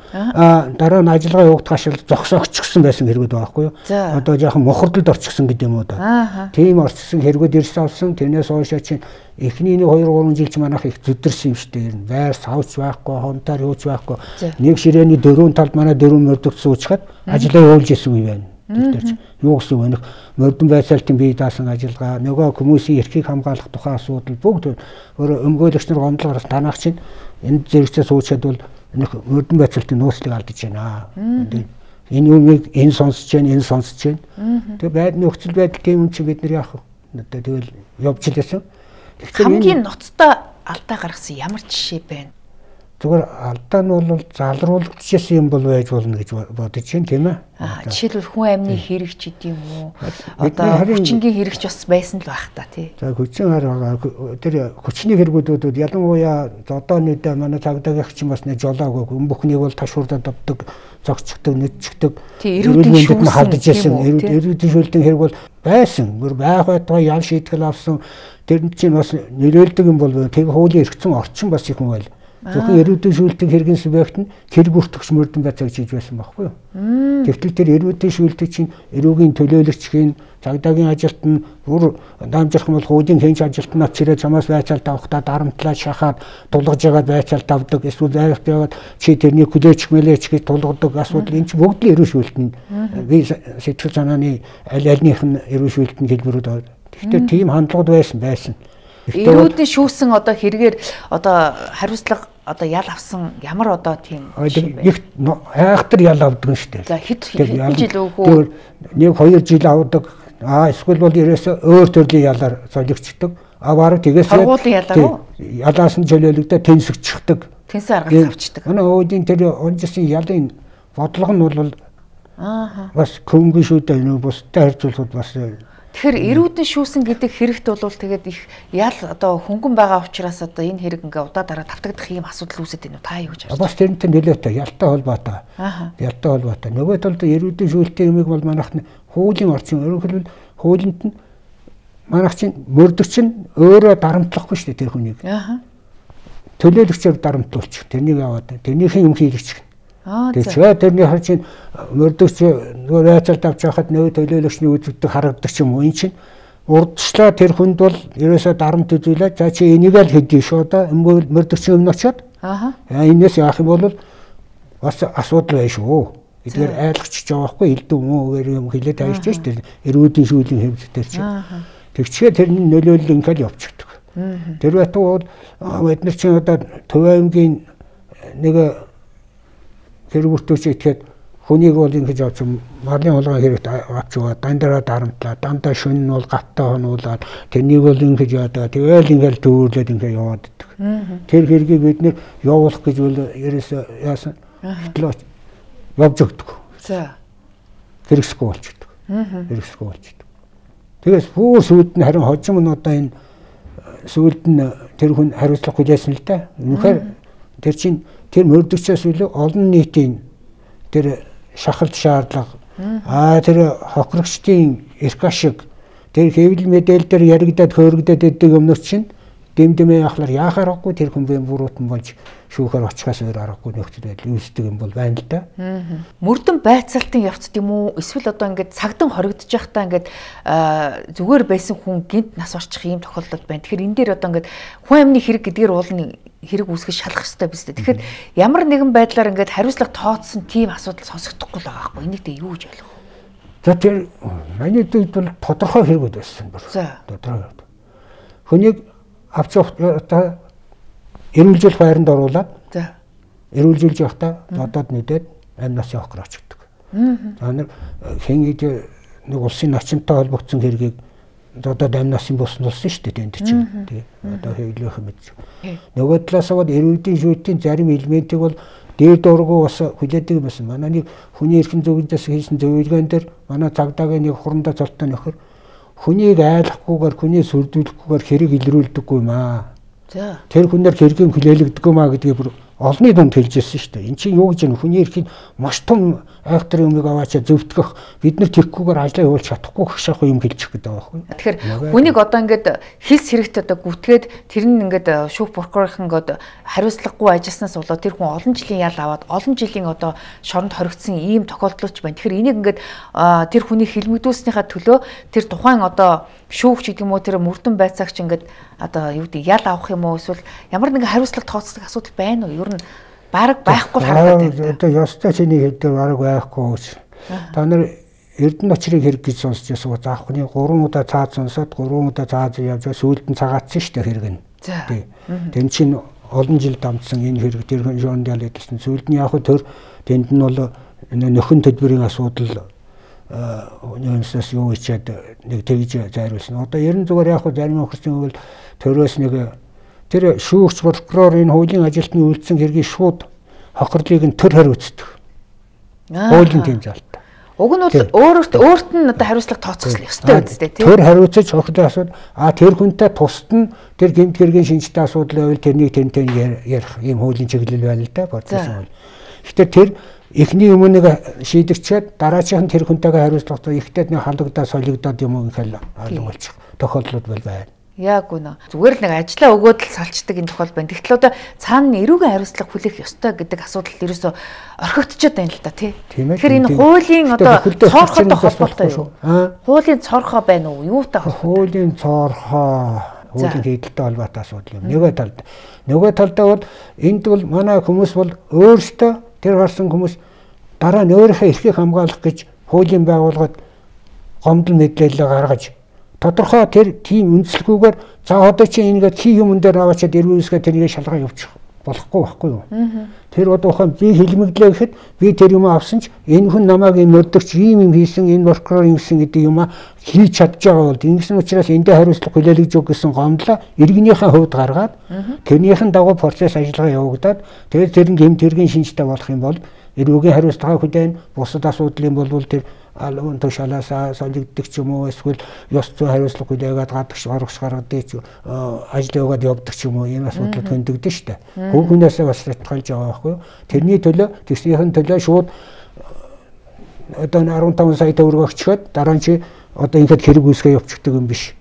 дараа нь ажиллагаа явагдах ашиг зогсоогчсон байсан хэрэгүүд байгаа байхгүй юу? Одоо жоохон мухардалд орчихсон гэдэг юм уу да. Тийм орчихсон хэрэгүүд ирсэн авсан. Тэрнээс хойшоо чинь эхний нэг хоёр гурван жил ч манайх их зүдэрсэн юм шүү дээ. Байр савч байхгүй, хонтоор юуч байхгүй. Нэг ширээний дөрвөн талд манай дөрвөн мөрдөгцсөн уучгаад ажиллаа явуулж исэн үе байна. Тэр юу гэсэн үг вэ? Мөрдөн байцаалтын бие даасан ажиллагаа, нөгөө хүмүүсийн эрхийг хамгаалах тухай асуудал бүгд өөрөө өмгөөлөгч нар гомдлогоос танах чинь энэ зэрэгцээ суучаад бол нэг мөрдөн байцаалтын нууцлыг алдаж байна. Энэ үнийг энэ сонсож байна, энэ сонсож байна. Тэгээ байдны нөхцөл байдал тийм юм чи бид нар яах вэ? Тэгэл явж лээсэн. Хамгийн ноцтой алдаа гаргасан ямар жишээ байна? Зүгээр алдаа нь бол залруулагдчихсан юм бол байж болно гэж бодож байна тийм ээ. Аа жишээлбэл хүн амны хэрэг ч гэдэм үү. Одоо хүчингийн хэрэг ч бас байсан л байх та тий. За хүчин хараа тэр хүчний хэрэгүүдүүд ялангуяа одоо нэг манай цагдаагийнх чинь бас нэг жолоогүй хүн бүхнийг бол ташуурдад авдаг, зогцчихдаг, нүдчихдэг. Эрүүдийн шүүсэн халдаж байсан. Эрүүдийн шүүлтийн хэрэг бол байсан. Гэр байх байтугай ял шийтгэл авсан. Тэр чинь бас нэрэлдэг юм бол тэг хуулийн эргэцэн орчин бас их юм байл. Зөвхөн эрүүдийн шүүлтийг хэрэгэн субъект нь хэрэг бүртгэгч мөрдөн байцааг хийж байсан байхгүй юу? Тэгтэл тэр эрүүдийн шүүлтийг чинь эрүүгийн төлөөлөгчгийн цагдаагийн ажилт нь бүр дамжрах юм бол хуулийн хянж ажилт нь очирээ чамаас байцаалт авахдаа дарамтлаа шахаад тулгаж яагаад байцаалт авдаг эсвэл байрт яваад чи тэрний хүлээч мэлээч гэж тулгадаг асуудал энэ чинь бүгд л эрүү шүүлтэн би сэтгэл санааны аль альнийх нь эрүү шүүлтэн хэлбэрүүд байна. Тэгвэл тийм хандлагууд байсан байсан. Эрүүдийн шүүсэн одоо хэрэгээр одоо хариуцлага одоо ял авсан ямар одоо тийм их айхтар ял авдаг шүү дээ. За хэд жил өгөө нэг хоёр жил авдаг. Аа эсвэл бол ерөөсөө өөр төрлийн ялаар солигчдаг. А бараг тэгээс сургуулийн ялаар уу? Ялаас нь чөлөөлөгдөө тэнсэгчдэг. Тэнсэн аргаж авчдаг. Манай өөдийн тэр онжсэн ялын бодлого нь бол аа бас хөнгөн шүү дээ. Нөө бусдад харьцуулахад бас тэгэхээр эрүүдэн шүүсэн гэдэг хэрэгт бол тэгээд их ял одоо хөнгөн байгаа учраас одоо энэ хэрэг ингээ удаа дараа давтагдах ийм асуудал үүсэж байна уу? Та юу гэж харж байна? Бас тэрнтэй нөлөөтэй ялтай холбоотой. Ялтай холбоотой. Нөгөө талд эрүүдэн шүүлтийн юмыг бол манайх нь хуулийн орчин ерөнхийдөө хуулинд нь манайх чинь мөрдөгч нь өөрөө дарамтлахгүй шүү дээ тэр хүнийг. Төлөөлөгчөөр дарамтлуулчих. Тэрнийг аваад тэрнийхэн юм хийлгэж. Тэгэхээр тэрний хар чинь мөрдөгч нөгөө байцаалт авч байхад нөгөө төлөөлөгчний үзэгдэх харагддаг юм уу? Энэ чинь урдчлаа тэр хүнд бол ерөөсөө дарамт үзүүлээд за чи энийг л хэдий шүү да мөрдөгчийн өмнө очиод аа энэс яах юм бол бас асуудал байна шүү. Эдгээр айлгч байгаа байхгүй элдв мөөр юм хэлээд тавьж шүү дээ. Эрүүдийн шүүлийн хэвлэлтэр чинь. Тэгчээ тэрний нөлөөлөл ингээл явчихдаг. Тэр байтугай бид нар чинь одоо Төв аймгийн нэг хэрэг бүртгүүлж итгэхэд хүнийг бол ингэж авч марлын хулгай хэрэгт авч яваа дандаа дарамтлаа дандаа шөнө нь бол гавтаа хонуулаад тэрнийг бол ингэж яадаг тэгэл ингээл дүүрлээд ингээ яваад идэх. Тэр хэргийг бид нэр явуулах гэж бол ерөөсөө яасан хөтлөөч явж өгдөг. За хэрэгсгүй болчихдог. Хэрэгсгүй болчихдог. Тэгээс бүр сүйд нь харин хожим нь одоо энэ сүйд нь тэр хүн хариуцлага хүлээсэн л да. Үнэхээр тэр чинь тэр мөрдөгчөөс илүү олон нийтийн тэр шахалт шаардлага аа тэр хохирогчдын эрх ашиг тэр хэвлэл мэдээлэл дээр яригадад хөөрөгдөд өгдөг юмнууд чинь дэмдэмээ яхалаар яахаар авахгүй тэр хүн бүрүүтэн болж шүүхээр очихоос өөр аргагүй нөхцөл байдал үүсдэг юм бол байна л да. Мөрдөн байцаалтын явцд юм уу эсвэл одоо ингээд цагдан хоригдож байхдаа ингээд зүгээр байсан хүн гинт нас орчих ийм тохиолдол байна. Тэгэхээр энэ дээр одоо ингээд хүн амны хэрэг гэдгээр уулын хэрэг үүсгэж шалгах хэрэгтэй биз дээ. Тэгэхээр ямар нэгэн байдлаар ингээд хариуцлага тооцсон тийм асуудал сонсогдохгүй л байгаа байхгүй. Энийг дээ юу гэж ойлгох вэ? За тэр миний дэд бол тодорхой хэрэгүүд байсан бүр. Тодорхой. Хүнийг авч одоо эрүүлжүүлэх байранд оруулаад за эрүүлжүүлж явахдаа бодоод нэдээд амь насын хохор очдог. За нар хэн гэдэг нэг улсын начинтай холбогдсон хэргийг одоо амь насын босн болсон шүү дээ тэнд чинь. Тий. Одоо хэвлэх мэдж. Нөгөө талаас нь эрүүдийн шүтийн зарим элементийг бол дээр дургу бас хүлээдэг юм байна. Манай нэг хүний эрхэн зөвлөдөөс хийсэн зөвлөгөөн дээр манай цагдаагийн нэг хурандаа цолтой нөхөр хүнийг айлахгүйгээр хүнийг сүрдүүлэхгүйгээр хэрэг илрүүлдэггүй юм аа. За. Тэр хүнээр хэргийн хүлээлгдэггүй маа гэдгийг бүр олонний дунд хэлжсэн шүү дээ. Энд чинь юу гэж юм хүний эрхийн маш том айхтар юмыг аваачаа зөвтгөх бид нар тэрхгүйгээр ажлаа явуулж чадахгүй гэх шахах юм хэлчих гэдэг байгаа байхгүй. Тэгэхээр хүнийг одоо ингээд хилс хэрэгтэй одоо гүтгээд тэр нь ингээд шүүх прокурорын ингээд хариуцлагагүй ажилласнаас болоод тэр хүн олон жилийн ял аваад олон жилийн одоо шоронд хоригдсон ийм тохиолдлооч байна. Тэгэхээр энийг ингээд тэр хүнийг хилмигдүүлснийхаа төлөө тэр тухайн одоо шүүгч гэдэг юм уу тэр мөрдөн байцаагч ингээд одоо юу гэдэг ял авах юм уу эсвэл ямар нэгэн хариуцлага тооцдог асуудал байна уу? Ер нь бараг байхгүй харагдаад байна. Одоо ёстой чиний хэдээр бараг байхгүй гэж. Та нар Эрдэнэ очрыг хэрэг гэж сонсч байсан. Заахны гурван удаа цаад сонсоод гурван удаа цаад явж сүйд нь цагаатсан шүү дээ хэрэг нь. Тий. Тэн чин олон жил дамжсан энэ хэрэг тэр хүн жоон ял гэдсэн. Сүйд нь яг төр тэнд нь бол нөхөн төлбөрийн асуудал өнөөсөөс юу ичээд нэг тэгж зайруулсан. Одоо ерэн зүгээр яг зарим охирчин бол төрөөс нэг тэр шүүгч прокурор энэ хуулийн ажилтны үйлдсэн хэргийг шууд хохирлыг нь төр хариуцдаг. Хуулийн тийм залт. Уг нь бол өөрөөрт өөрт нь одоо хариуцлага тооцох ёстой үстэй тийм. Төр хариуцаж хохирлын асуудал а тэр хүнтэй тусад нь тэр гэмт хэргийн шинжтэй асуудал байвал тэрнийг тэнтэй ярих ийм хуулийн чиглэл байна л да процесс хууль. Гэхдээ тэр эхний өмнөг шийдэгчээд дараачих нь тэр хүнтэйгээ хариуцлагатай ихтэй нэг халагдаад солигдоод юм уу гэхэл ойлгуулчих тохиолдлууд бол байна. Яг үнэ. Зүгээр л нэг ажлаа өгөөд л салчдаг энэ тохиол байна. Тэгтэл одоо цаана эрүүгийн хариуцлага хүлээх ёстой гэдэг асуудал ерөөсө орхигдчиход байна л да тий. Тэгэхээр энэ хуулийн одоо цоорхотой холбоотой юу? Хуулийн цоорхоо байна уу? Юутай холбоотой? Хуулийн цоорхоо хуулийн хэдэлтэй холбоотой асуудал юм. Нөгөө талд. Нөгөө талдаа бол энд бол манай хүмүүс бол өөрсдөө тэр гарсан хүмүүс дараа нь өөрийнхөө эрхийг хамгаалах гэж хуулийн байгууллагад гомдол мэдээлэл гаргаж тодорхой тэр тийм үндэслэгүүгээр за одоо чи ингээд хий юм дээр аваачаад эргүүлсгээ тэрийг шалгаа явуучих болохгүй байхгүй юу. Тэр одоо ухаан би хэлмэглээ гэхэд би тэр юм авсан ч энэ хүн намайг юм өдөрч ийм юм хийсэн энэ прокурор юм гэсэн гэдэг юм хийж чадж байгаа бол ингэсэн учраас эндээ хариуцлага хүлээлгэж өг гэсэн гомдлоо иргэнийхээ хувьд гаргаад тэрнийхэн дагуу процесс ажиллагаа явагдаад тэгээд тэр нь гэмт хэргийн шинжтэй болох юм бол эрүүгийн хариуцлага хүлээн бусад асуудлын болвол тэр алуун тушаалаасаа солигддог ч юм уу эсвэл ёс зүйн хариуцлага хүлээгээд гадагш гаргах гаргадаг ч ажил яваад явдаг ч юм уу ийм асуудлууд хөндөгдөн штэ. Хүүхнээсээ бас шалтгаалж байгаа байхгүй юу? Тэрний төлөө тэгснийхэн төлөө шууд одоо арван таван сая төгрөг өгчөөд дараа нь чи одоо ингээд хэрэг үүсгээ явуулдаг юм биш.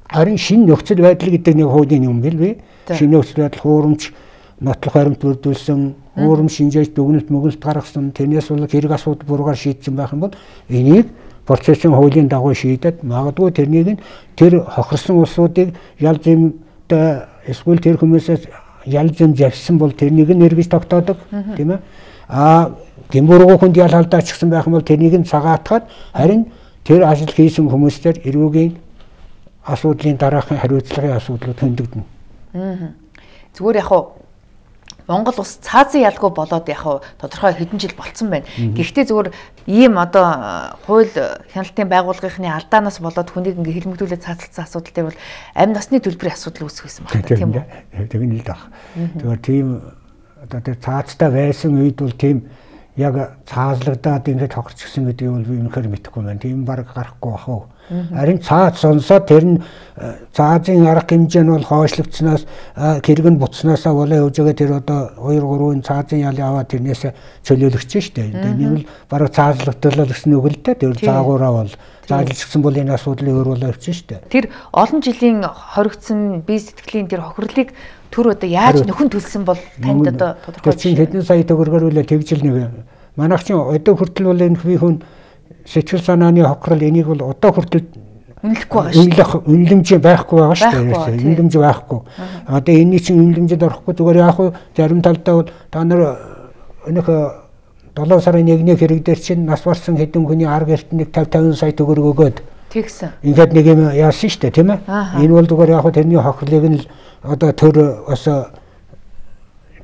Харин шинэ нөхцөл байдал гэдэг нэг хуулийн юм бил би. Шинэ нөхцөл байдал хуурамч нотлох баримт бүрдүүлсэн уурам шинжээж дүгнэлт мөгөлт гаргасан тэрнээс бол хэрэг асуудал буруугаар шийдсэн байх юм бол энийг процессын хуулийн дагуу шийдээд магадгүй тэрнийг нь тэр хохирсон улсуудыг ял зэмтэй эсвэл тэр хүмүүсээс ял зэм завьсан бол тэрнийг нь эргэж тогтоодог тийм ээ а гэмбургуу хүнд ял алдаачихсан байх юм бол тэрнийг нь цагаатгаад харин тэр ажил хийсэн хүмүүстээр эрүүгийн асуудлын дараахан хариуцлагын асуудлууд хөндөгдөнө. Зүгээр яг Монгол улс цаазын ялгүй болоод яг тодорхой хэдэн жил болцсон байна. Гэхдээ зүгээр ийм одоо хууль хяналтын байгууллагын алдаанаас болоод хүнийг ингээ хэлмэгдүүлээд цаацалсан асуудал дээр бол амь насны төлбөрийн асуудал үүсгэсэн байна тийм үү? Тэгнэ л даа. Тэгэхээр тийм одоо тэр цаацтай байсан үед бол тийм яг цаазлагдаад ингээд хохирчихсан гэдэг нь бол би үнэхээр мэдэхгүй байна. Тийм баг гарахгүй бах уу. Харин цаад сонсоод тэр нь цаазын арга хэмжээ нь бол хойшлогдсноос хэрэг нь буцснаасаа болоо явж байгаа тэр одоо хоёр гурван цаазын ял яваад тэрнээс чөлөөлөгч штэ. Энэ бол бараг цаазлагдлал гэсэн үг л дээ. Тэр заагуураа бол заалжчихсан бол энэ асуудлыг өөрөөлөө явчих штэ. Тэр олон жилийн хоригдсон бие сэтгэлийн тэр хохирлыг түр одоо яаж нөхөн төлсөн бол танд одоо тодорхой чинь хэдэн сая төгрөгөөр үлээ тэгжил нэг манайх чинь одоо хүртэл бол энэ би хүн сэтгэл санааны хохирол энийг бол одоо хүртэл үнэлэхгүй байгаа шүү дээ. Үнэлэмж байхгүй байгаа шүү дээ. Үнэлэмж байхгүй. Одоо энэний чинь үнэлэмжэд орохгүй зүгээр яг хуу зарим талдаа бол та нар өнөх долоо сарын нэгний хэрэг дээр чинь нас барсан хэдэн хүний арга эртнийг тавь таван сая төгрөг өгөөд тэгсэн. Ингээд нэг юм яасан шүү дээ тийм ээ. Энэ бол зүгээр яг хуу тэрний хохирлыг нь одоо төр бас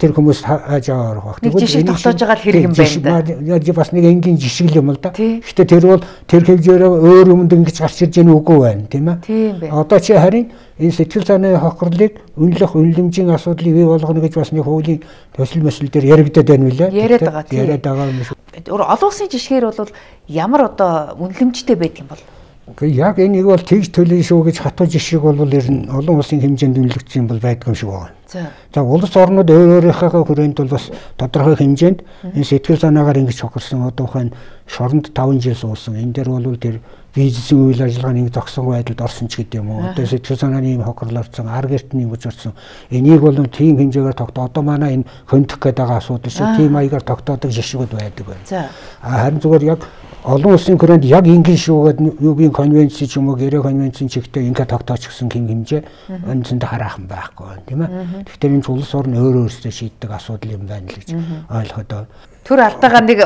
тэр хүмүүс хааж аваар байх. Нэг жишээ тогтоож байгаа л хэрэг юм байна да. Бас нэг энгийн жишг юм л да. Гэхдээ тэр бол тэр хэмжээрээ өөр юмд ингэж гарч ирж яах үгүй байна, тийм ээ. Тийм бэ. Одоо чи харин энэ сэтгэл санааны хохирлыг үнэлэх, үнэлэмжийн асуудлыг бий болгоно гэж бас нэг хуулийн төсөл мэсэл дээр яригдаад байна билээ. Яриад байгаа тийм. Яриад байгаа юм шүү. Олон улсын жишгээр бол ямар одоо үнэлэмжтэй байдаг юм бол? Гэхдээ яг энийг бол тэгж төлөй шүү гэж хатуу жишг бол ер нь олон улсын хэмжээнд үнэлэгдсэн бол байдаг юм шиг байна. За. За улс орнууд өөр өөрийнхөө хүрээнд бол бас тодорхой хэмжээнд энэ сэтгэл санаагаар ингэж хохирсон одоо ухаан шоронд таван жил суусан. Энэ дээр бол тэр бизнесийн үйл ажиллагааны нэг зогсон байдалд орсон ч гэдэг юм уу. Одоо сэтгэл санааны юм хохирлолцсон, ар гэртний юм учирсан. Энийг бол тийм хэмжээгээр тогтоо. Одоо манай энэ хөндөх гэдэг асуудал шиг тийм маягаар тогтоодог жишгүүд байдаг байна. За. Харин зүгээр яг олон улсын хүрээнд яг ингэ шүүгээд юугийн конвенц ч юм уу гэрээ конвенцийн чигтээ ингэ тогтооч гэсэн хэм хэмжээ өнцөнд хараахан байхгүй байна тийм ээ. Тэгэхээр энэ улс орн өөр өөрсдөө шийддэг асуудал юм байна л гэж ойлгоход байна. Төр алдаагаа нэг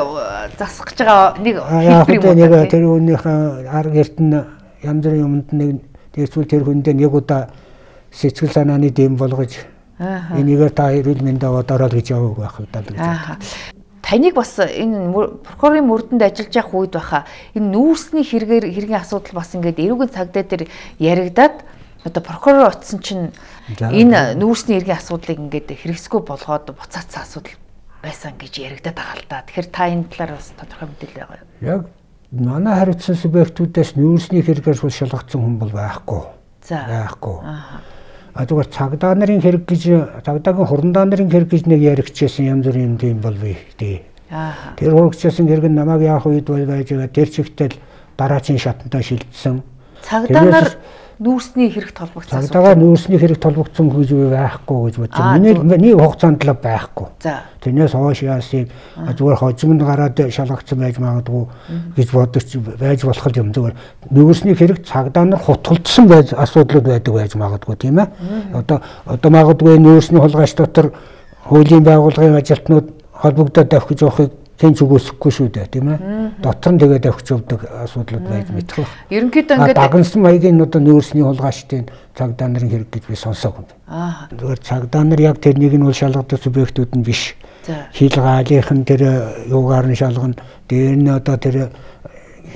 засах гэж байгаа нэг хэлбэр юм байна. Тэр үүнийхээ ар гэрт нь янз бүрийн юмд нэг тэгвэл тэр хүндээ нэг удаа сэтгэл санааны дэм болгож энийгээр та эрүүл мэндэ одоорол гэж яваг байх удаа гэж байна. Таныг бас энэ прокурорын мөрдөнд ажиллаж явах үед баха энэ нүүрсний хэрэгээр хэргийн асуудал бас ингээд эрүүгийн цагдаа дээр яригадаад одоо прокурор утсан чинь энэ нүүрсний хэргийн асуудлыг ингээд хэрэгсгүй болгоод буцаацсан асуудал байсан гэж яригадаад байгаа л да. Тэгэхээр та энэ талаар бас тодорхой мэдээлэл байгаа юу? Яг манай хариуцсан субъектүүдээс нүүрсний хэрэгээр шалгагдсан хүн бол байхгүй. За. Байхгүй. А зүгээр цагдаа нарын хэрэг гэж цагдаагийн хурандаа нарын хэрэг гэж нэг яригчээсэн янз бүрийн юм тийм бол бий дээ. Аа. Тэр хурагчээсэн хэрэг нь намайг яах үед бол байж байгаа тэр чигтэл дараачийн шатантаа шилжсэн. Цагдаа нар нүүрсний хэрэг толбогдсон. Цагдаагаар нүүрсний хэрэг толбогдсон гэж байхгүй гэж бодож байна. Миний нэг хугацаанд л байхгүй. За. Тэрнээс хойш яасыг зүгээр хожимд гараад шалгагдсан байж магадгүй гэж бодож байж болох юм. Зүгээр нүүрсний хэрэг цагдаа нар хутгалдсан байж асуудлууд байдаг байж магадгүй тийм ээ. Одоо одоо магадгүй нүүрсний хулгайч дотор хуулийн байгууллагын ажилтнууд холбогдоод авах гэж явахыг тэнц үгүйсэхгүй шүү дээ тийм ээ. Дотор нь тэгээд авч явдаг асуудлууд байж мэдэх. Ерөнхийдөө ингээд дагнсан маягийн одоо нүүрсний хулгайчдын цагдаа нарын хэрэг гэж би сонсоогүй. Аа. Зүгээр цагдаа нар яг тэрнийг нь бол шалгадаг субъектүүд нь биш. Хил гаалийнхан тэр юугаар нь шалгана. Дээр нь одоо тэр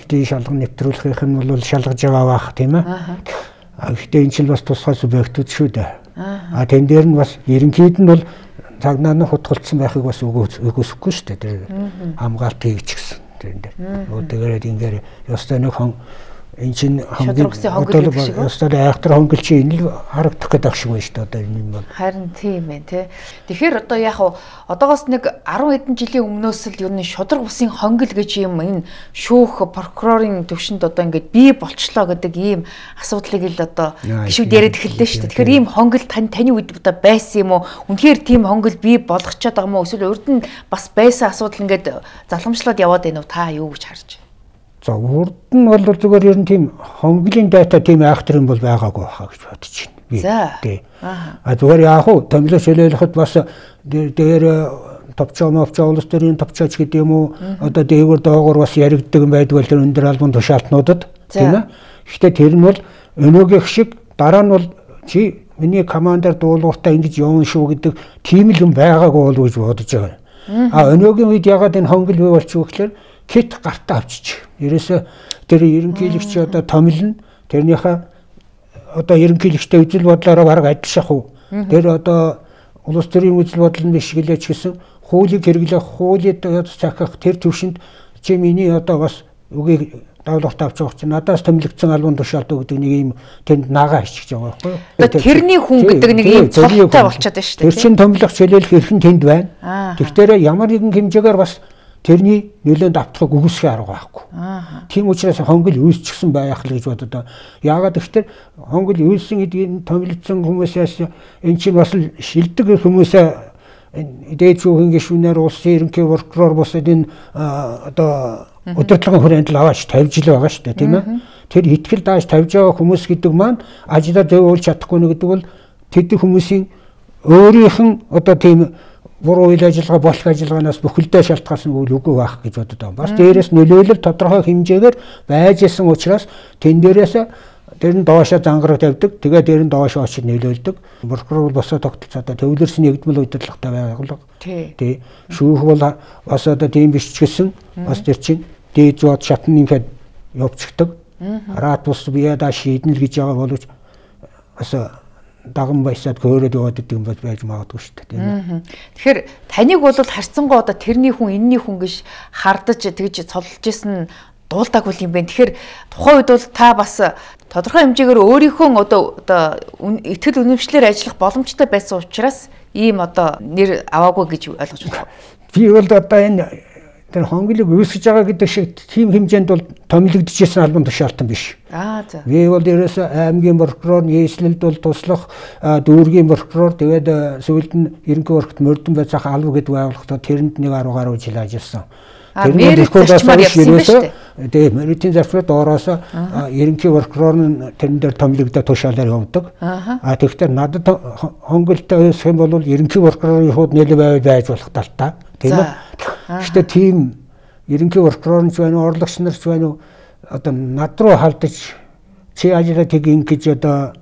хилийн шалган нэвтрүүлэхийнх нь бол шалгаж байгаа бах тийм ээ. Аа. Гэхдээ энэ ч бас тусгай субъектүүд шүү дээ. Аа. Тэн дээр нь бас ерөнхийд нь бол цагдаа нар хутгалцсан байхыг бас үгүйсэхгүй шүү дээ. Тэр хамгаалт хийгч гэсэн тэрэн дээр. Тэгээд ингээд ёстой нэг хон энэ чинь хонгил ёстой айхтар хонгил чи энэ л харагдах гэдэг шиг байна шүү дээ. Одоо энэ юм бол харин тийм ээ тий. Тэгэхээр одоо яг одоогоос нэг арван хэдэн жилийн өмнөөс л ер нь шудраг усын хонгил гэж юм энэ шүүх прокурорын төвшөнд одоо ингээд бий болчлоо гэдэг ийм асуудлыг л одоо гişүүд яриад эхэллээ шүү дээ. Тэгэхээр ийм хонгил тань таны үед одоо байсан юм уу? Үнэхээр тийм хонгил бий болгочиход байгаа юм уу? Эсвэл урд нь бас байсан асуудал ингээд залхамжлаад яваад байна уу? Та юу гэж харж байна? За урд нь бол зүгээр ер нь тийм хонгилын дата тийм айхтар юм бол байгаагүй хаа гэж бодож байна. За. Тий. А зүгээр яах вэ? Томилоо шилээлэхэд бас дээр товчоо мовчоо улс төрийн товчооч гэдэг юм уу? Одоо дээгүүр доогуур бас яригддаг юм байдгүй тэр өндөр албан тушаалтнуудад тийм ээ. Гэхдээ тэр нь бол өнөөгийнх шиг дараа нь бол чи миний командаар дуулууртаа ингэж явна шүү гэдэг тийм л юм байгаагүй болов гэж бодож байгаа. А өнөөгийн үед ягаад энэ хонгил бий болчих вэ гэхээр кит гартаа авчиж. Ерөөсө тэр ерөнхийлөгч одоо томилно. Тэрнийхээ одоо ерөнхийлөгчтэй үзэл бодлороо бараг адил шахав. Тэр одоо улс төрийн үзэл бодол нь биш гэлээч гэсэн хуулийг хэрэглэх, хуулийг захих тэр төвшөнд чи миний одоо бас үгийг давлуулт авч байгаа чинь надаас томилогдсон албан тушаалт өгдөг нэг юм тэнд нагаа хичиж байгаа байхгүй юу? Тэрний хүн гэдэг нэг юм цолтой болчиход байна шүү дээ. Тэр чин томилох чөлөөлөх эрхэн тэнд байна. Тэгэхээр ямар нэгэн хэмжээгээр бас тэрний нөлөөнд автахыг үгүйсэх арга байхгүй. Тийм учраас хонгил үүсчихсэн байх л гэж бодод. Яагаад гэвэл хонгил үүссэн гэдгийг томилогдсон хүмүүсээс эн чинь бас шилдэг хүмүүсээ дээд шүүхийн гишүүнээр улсын ерөнхий прокурор бусад энэ одоо удирдлагын хүрээнд л аваач тавьж л байгаа шүү дээ тийм ээ. Тэр итгэл дааж тавьж байгаа хүмүүс гэдэг маань ажлаа зөвөөлж чадахгүй нэг гэдэг бол тэд хүмүүсийн өөрийнх нь одоо тийм буруу үйл ажиллагаа болох ажиллагаанаас бүхэлдээ шалтгаалсан үйл үгүй байх гэж боддог. Бас дээрээс нөлөөлөл тодорхой хэмжээгээр байж исэн учраас тэн дээрээс тэр нь доошоо зангараг тавьдаг. Тэгээ тэр нь доошоо очиж нөлөөлдөг. Прокурор бол босоо тогтолцоо одоо төвлөрсөн нэгдмэл удирдлагатай байгууллага. Тий. Шүүх бол бас одоо тийм биш ч гэсэн бас тэр чинь дээд зуад шатныхад явцдаг. Араад бус бияда шийднэ л гэж байгаа боловч бас даган баясаад хөөрөөд яваад идэг юм байж магадгүй шүү дээ. Тэгэхээр таныг бол харьцангуй одоо тэрний хүн энэний хүн гэж хардаж тэгж цолж исэн дуулдаг бол юм байна. Тэгэхээр тухайн үед бол та бас тодорхой хэмжээгээр өөрийнхөө одоо одоо итгэл үнэмшлэр ажиллах боломжтой байсан учраас ийм одоо нэр аваагүй гэж ойлгож байна. Би бол одоо энэ тэр хонглог үүсгэж байгаа гэдэг шиг тийм хэмжээнд бол томилогдчихсэн албан тушаалтан биш. Аа за. Би бол ерөөсөө аймгийн прокурор, нийслэлд бол туслах дүүргийн прокурор тэгээд сүүлд нь ерөнхий прокурорт мөрдөн байцаах алба гэдэг байгууллагад тэрэнд нэг арга гаруй жил ажилласан. Тэр зарчмаар явсан юм шүү дээ. Тэгээд мэритийн зарчмаар доороос ерөнхий прокурор нь тэрэн дээр томилогдоо тушаалаар явдаг. А тэгэхээр надад хонголтой өсөх юм бол ерөнхий прокурорын хууд нэлээд байж болох талтай. Тийм үү? Гэхдээ тийм ерөнхий прокурорч байна уу, орлогч нарч байна уу одоо над руу халдаж чи ажиллаа тгийн гэж одоо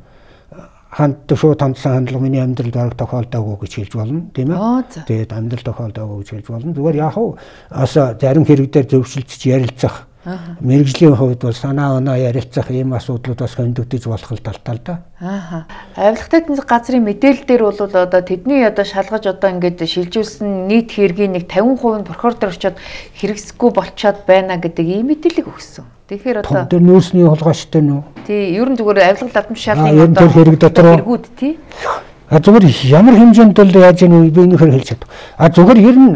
ханддаг шууд хандсан хандлага миний амьдралд бараг тохиолдоогүй гэж хэлж болно, тийм ээ. Тэгээд амьдрал тохиолдоогүй гэж хэлж болно. Зүгээр яг уу бас зарим хэрэг дээр зөвшөлтөж ярилцах. Мэргэжлийн хувьд бол санаа оноо ярилцах ийм асуудлууд бас хөндөгдөж болох л талтай л да. Аа. Авилгатай тэнцэх газрын мэдээлэл дээр бол одоо тэдний одоо шалгаж одоо ингээд шилжүүлсэн нийт хэргийн нэг тавин хувь нь прокурор дээр очиод хэрэгсэхгүй болчиход байна гэдэг ийм мэдээлэл өгсөн. Тэгэхээр одоо тэр нөөцний хулгайчтай нөө. Тий, ер нь зүгээр авилга ладам шалгын одоо хэрэг дотор хэрэгүүд тий. А зүгээр ямар хэмжээнд бол яаж ийм би нөхөр хэлж чадах. А зүгээр ер нь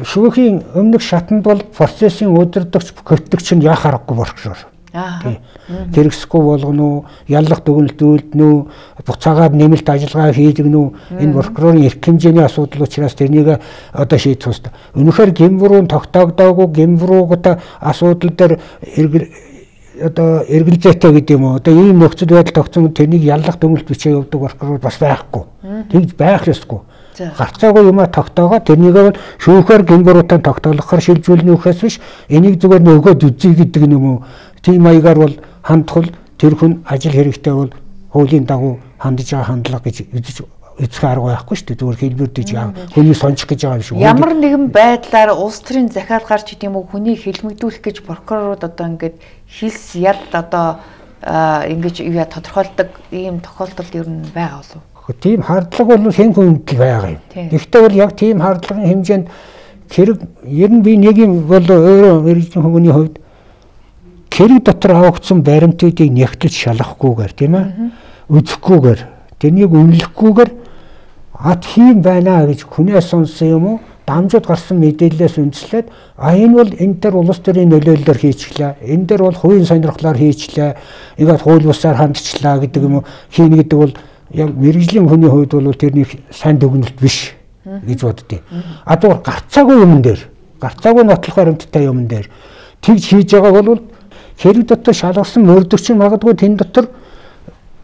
шүүхийн өмнөх шатанд бол процессын удирдагч хөтлөгч нь яах аргагүй прокурор. Аа. Хэрэгсэхгүй болгоно уу, яллах дүгнэлт үйлдэнэ үү, буцаагаад нэмэлт ажиллагаа хийлгэнэ үү, энэ прокурорын эрх хэмжээний асуудал учраас тэрнийг одоо шийдэх ёстой. Үнэхээр гэмврүүн тогтоогдоогүй гэмврүүгт асуудал дээр одоо эргэлзээтэй гэдэг юм уу. Одоо ийм нөхцөл байдал тогтсон тэрнийг яллах дүгнэлт бичээ явуулдаг прокурор бас байхгүй. Тэгж байх ёсгүй. Гарцаагүй юм а тогтоогоо тэрнийг бол шүүхээр гэмбэрүүтэн тогтоолохоор шилжүүлнэ үхээс биш энийг зүгээр нөгөөд үзье гэдэг юм уу. Тийм маягаар бол хандхал тэр хүн ажил хэрэгтэй бол хуулийн дагуу хандж байгаа хандлага гэж үзэж эцэг арга байхгүй шүү дээ. Зүгээр хэлбэрдэж яа хүний сончих гэж байгаа юм шиг. Ямар нэгэн байдлаар улс төрийн захиал гарч идэм үү хүнийг хэлмэгдүүлэх гэж прокурорууд одоо ингээд хилс ял одоо ингэж яа тодорхойлдог ийм тохиолдол ер нь байгаа болов. Тийм хардлага бол хэн хүнд л байгаа юм. Гэхдээ бол яг тийм хардлагын хэмжээнд хэрэг ер нь би нэг юм бол өөрөө мэргэжлийн хүмүүний хувьд хэрэг дотор авагдсан баримтуудыг нягтлж шалгахгүйгээр тийм ээ үзэхгүйгээр тэрнийг үнэлэхгүйгээр ат хийм байна гэж хүнээс сонсон юм уу дамжууд гарсан мэдээлэлээс үндэслээд а энэ бол энэ төр улс төрийн нөлөөллөөр хийчихлээ энэ дэр бол хувийн сонирхлоор хийчихлээ ингээд хууль бусаар хандчихлаа гэдэг юм уу хийн гэдэг бол яг мэргэжлийн хүний хувьд бол тэрний сайн дүгнэлт биш гэж боддیں۔ А зүгээр гарцаагүй юм дээр гарцаагүй нотлох баримттай юм дээр тэгж хийж байгаа бол хэрэг дотор шалгасан мөрдөгч магадгүй тэн дотор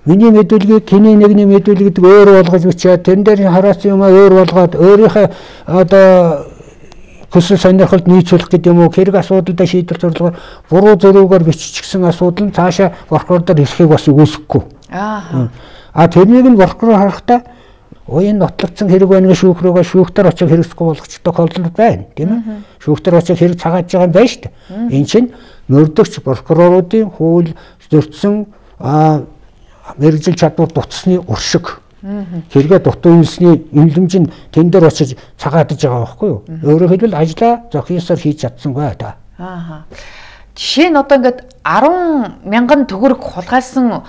миний мэдүүлгийг киний нэгний мэдүүлэг гэдэг өөр болгож бичээд тэн дээр хараасан юм өөр болгоод өөрийнхөө одоо хүсэл сонирхолд нийцүүлэх гэдэг юм уу хэрэг асуудалдаа шийдвэр зорилгоор буруу зөрүүгээр биччихсэн асуудал нь цаашаа прокурор дээр ирэхийг бас үүсэхгүй. Аа. А тэрнийг нь прокурор харахтаа уян нотлогдсон хэрэг байна гэж шүүх рүүгээ шүүхтэр очиж хэрэгсэхгүй болгочих тохиолдол байна тийм ээ. Шүүхтэр очиж хэрэг цагааж байгаа юм байна шүү дээ. Энэ чинь мөрдөгч прокуроруудын хууль зөрчсөн мэргэжил чадвар дутсны уршиг. Хэрэгэ дутуу үйлсний эмлэмж нь тэн дээр очиж цагаадж байгаа байхгүй юу? Өөрөөр хэлбэл ажлаа зохиосоор хийж чадсангүй та. Аа. Жишээ нь одоо ингээд арван мянган төгрөг хулгайлсан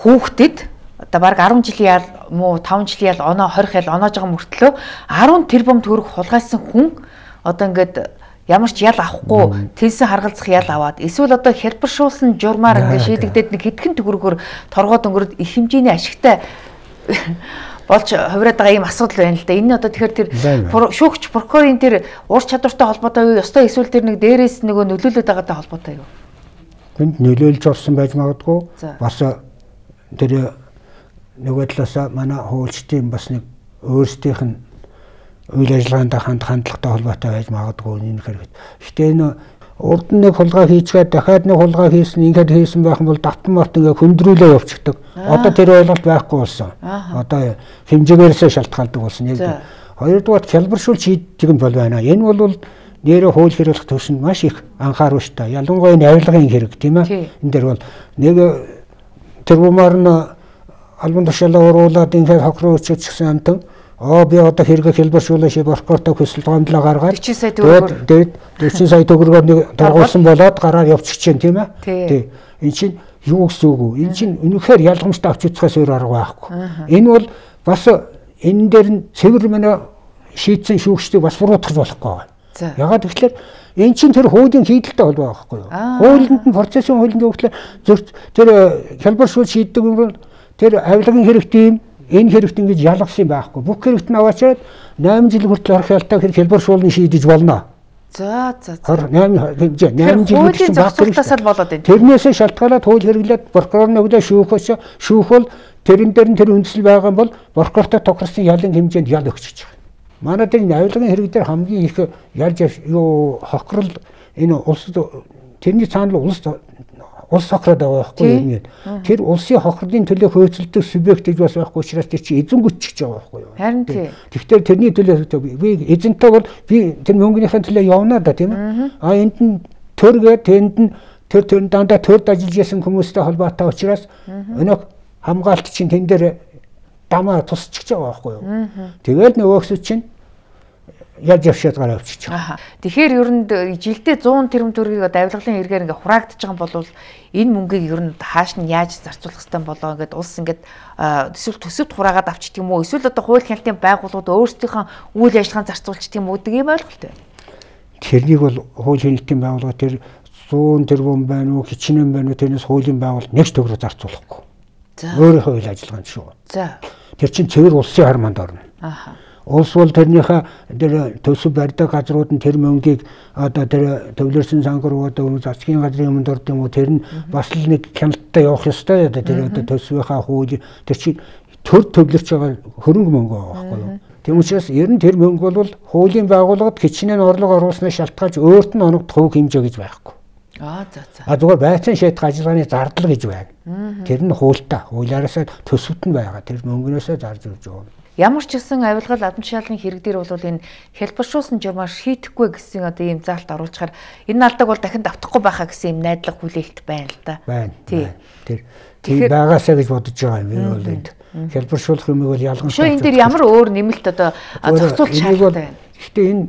хүүхдэд одоо баг арван жилийн ял муу таван жилийн ял оноо хорих ял оноож байгаа мөртлөө арван тэрбум төгрөг хулгайлсан хүн одоо ингээд ямар ч ял авахгүй тэнсэн харгалзах ял аваад эсвэл одоо хялбаршуулсан журмаар ингээд шийдэгдээд нэг хэдхэн төгрөгөөр торгоод өнгөрөд их хэмжээний ашигтай болж хувираад байгаа ийм асуудал байна л да. Энэ одоо тэгэхээр тэр шүүгч прокурорын тэр ур чадвартай холбоотой юу? Ёстой эсвэл тэр нэг дээрээс нөгөө нөлөөлөд байгаатай холбоотой юу? Тэнд нөлөөлж орсон байж магадгүй. Бас тэр нөгөө талаас манай хуульчдын бас нэг өөрсдийнх нь үйл ажиллагаанд ханд хандлагатай холбоотой байж магадгүй энэ хэрэг. Гэхдээ энэ урд нь нэг хулгай хийчихээд дахиад нэг хулгай хийсэн ингээд хийсэн байх юм бол давтан морт ингээд хөндрүүлээ явчихдаг. Одоо тэр ойлголт байхгүй болсон. Одоо хэмжээгээрээ шалтгаалдаг болсон. Яг хоёрдугаар хялбаршуулж хийдэг юм бол байна. Энэ бол нэрээ хууль хэрэглэх төвшөнд маш их анхааруулжтай. Ялангуяа энэ авилгын хэрэг тийм ээ. Энэ дээр бол нэг тэр бумаар нь албан тушаалаа уруулаад ингээд хохроо өчөжсөн амтан оо би одоо хэрэгэ хэлбэршүүлээ ши прокуратураа хүсэл гомдлоо гаргаад дөрвөн сая төгрөгөөр тэгээд дөрвөн сая төгрөгөөр нэг дургуулсан болоод гараар явчих чинь тийм ээ. Тий. Энд чинь юу гэсэн үг вэ? Энд чинь үнэхээр ялгамжтай авч үзэхээс өөр арга байхгүй. Энэ бол бас энэ дээр нь цэвэр мэнэ шийдсэн шүүгчдийг бас буруутгах болохгүй байна. Ягаад гэвэл эн чинь тэр хуулийн хийдэлтэй холбоо байхгүй юу? Хуулинд нь процессын хуулинд өгөхлөө зөв тэр хэлбэршүүл шийддэг юм бол тэр авилгын хэрэгтэй юм энэ хэрэгт ингэж ялгсан байхгүй. Бүх хэрэгт нь аваачаад восемь жил хүртэл орхиолтой хэрэг хэлбэршүүлэн шийдэж болно. За за за. восемь хэмжээ восемь жил хүртэл зохицуултасаа болоод байна. Тэрнээсээ шалтгаалаад хууль хэрэглээд прокурорны өглөө шүүхөөс шүүх бол тэрэн дээр нь тэр үндэслэл байгаа бол прокуратурт тохирсон ялын хэмжээнд ял өгч байгаа. Манай дээр авилгын хэрэг дээр хамгийн их ялж юу хохирол энэ улс тэрний цаана улс улс хохироод байгаа байхгүй юу? Тэр улсын хохирлын төлөө хөөцөлдөг субъект гэж бас байхгүй учраас тэр чинь эзэн гүчж байгаа байхгүй юу? Харин тий. Тэгэхээр тэрний төлөө би эзэнтэй бол би тэр мөнгөнийхээ төлөө явна да тийм ээ. А энд нь төргээд тэнд нь тэр тэр дандаа төрд ажиллаж байсан хүмүүстэй холбоотой учраас өнөө хамгаалт чинь тэн дээр дамаа тусчих байгаа байхгүй юу? Тэгэл нөгөөсөө чинь яаж явшаад гараа авчиж байгаа. Тэгэхээр ер нь жилдээ зуун тэрбум төгрөгийг авилгалын хэрэгээр ингээ хураагдаж байгаа юм бол энэ мөнгийг ер нь хааш нь яаж зарцуулах хэрэгтэй болоо ингээд улс ингээд эсвэл төсөвт хураагаад авчдаг юм уу? Эсвэл одоо хууль хяналтын байгууллагууд өөрсдийнхөө үйл ажиллагааг зарцуулчих юм уу гэдэг юм ойлголт байна. Тэрнийг бол хууль хяналтын байгууллага тэр зуун тэрбум байна уу, хичнээн байна уу тэрнээс хуулийн байгууллага нэг ч төгрөг зарцуулахгүй. Өөрийнхөө үйл ажиллагаанд шүү. За. Тэр чинь цэвэр улсын харманд орно. Аха. Улс бол тэрнийхээ тэр төсөв барьдаг газрууд нь тэр мөнгийг одоо тэр төвлөрсөн сангар одоо засгийн газрын юмд орд юм уу тэр нь бас л нэг хяналттай явах ёстой одоо тэр одоо төсвийнхаа хууль тэр чинь төр төвлөрч байгаа хөрөнгө мөнгө байгаа байхгүй юу. Тийм учраас ер нь тэр мөнгө бол хуулийн байгууллагад хичнээн орлого оруулсныг шалтгаалж өөрт нь оногдох хөв хэмжээ гэж байхгүй. Аа за за. А зүгээр байцаан шийдэх ажиллагааны зардал гэж байна. Тэр нь хуультай. Хуулиараасаа төсөвт нь байгаа. Тэр мөнгнөөсөө зарж өгч байгаа. Ямар ч гэсэн авилгал албан тушаалын хэрэг дээр бол энэ хэлбэршүүлсэн журмаар шийдэхгүй гэсэн одоо ийм заалт оруулчихаар энэ алдаг бол дахин давтахгүй байхаа гэсэн ийм найдлага хүлээлт байна л да. Байна. Тий. Тэр тийм байгаасаа гэж бодож байгаа юм. Энэ бол энд хэлбэршүүлэх юм бол ялгамжтай. Шөө энэ дээр ямар өөр нэмэлт одоо зохицуулт шаардлагатай байна. Гэхдээ энэ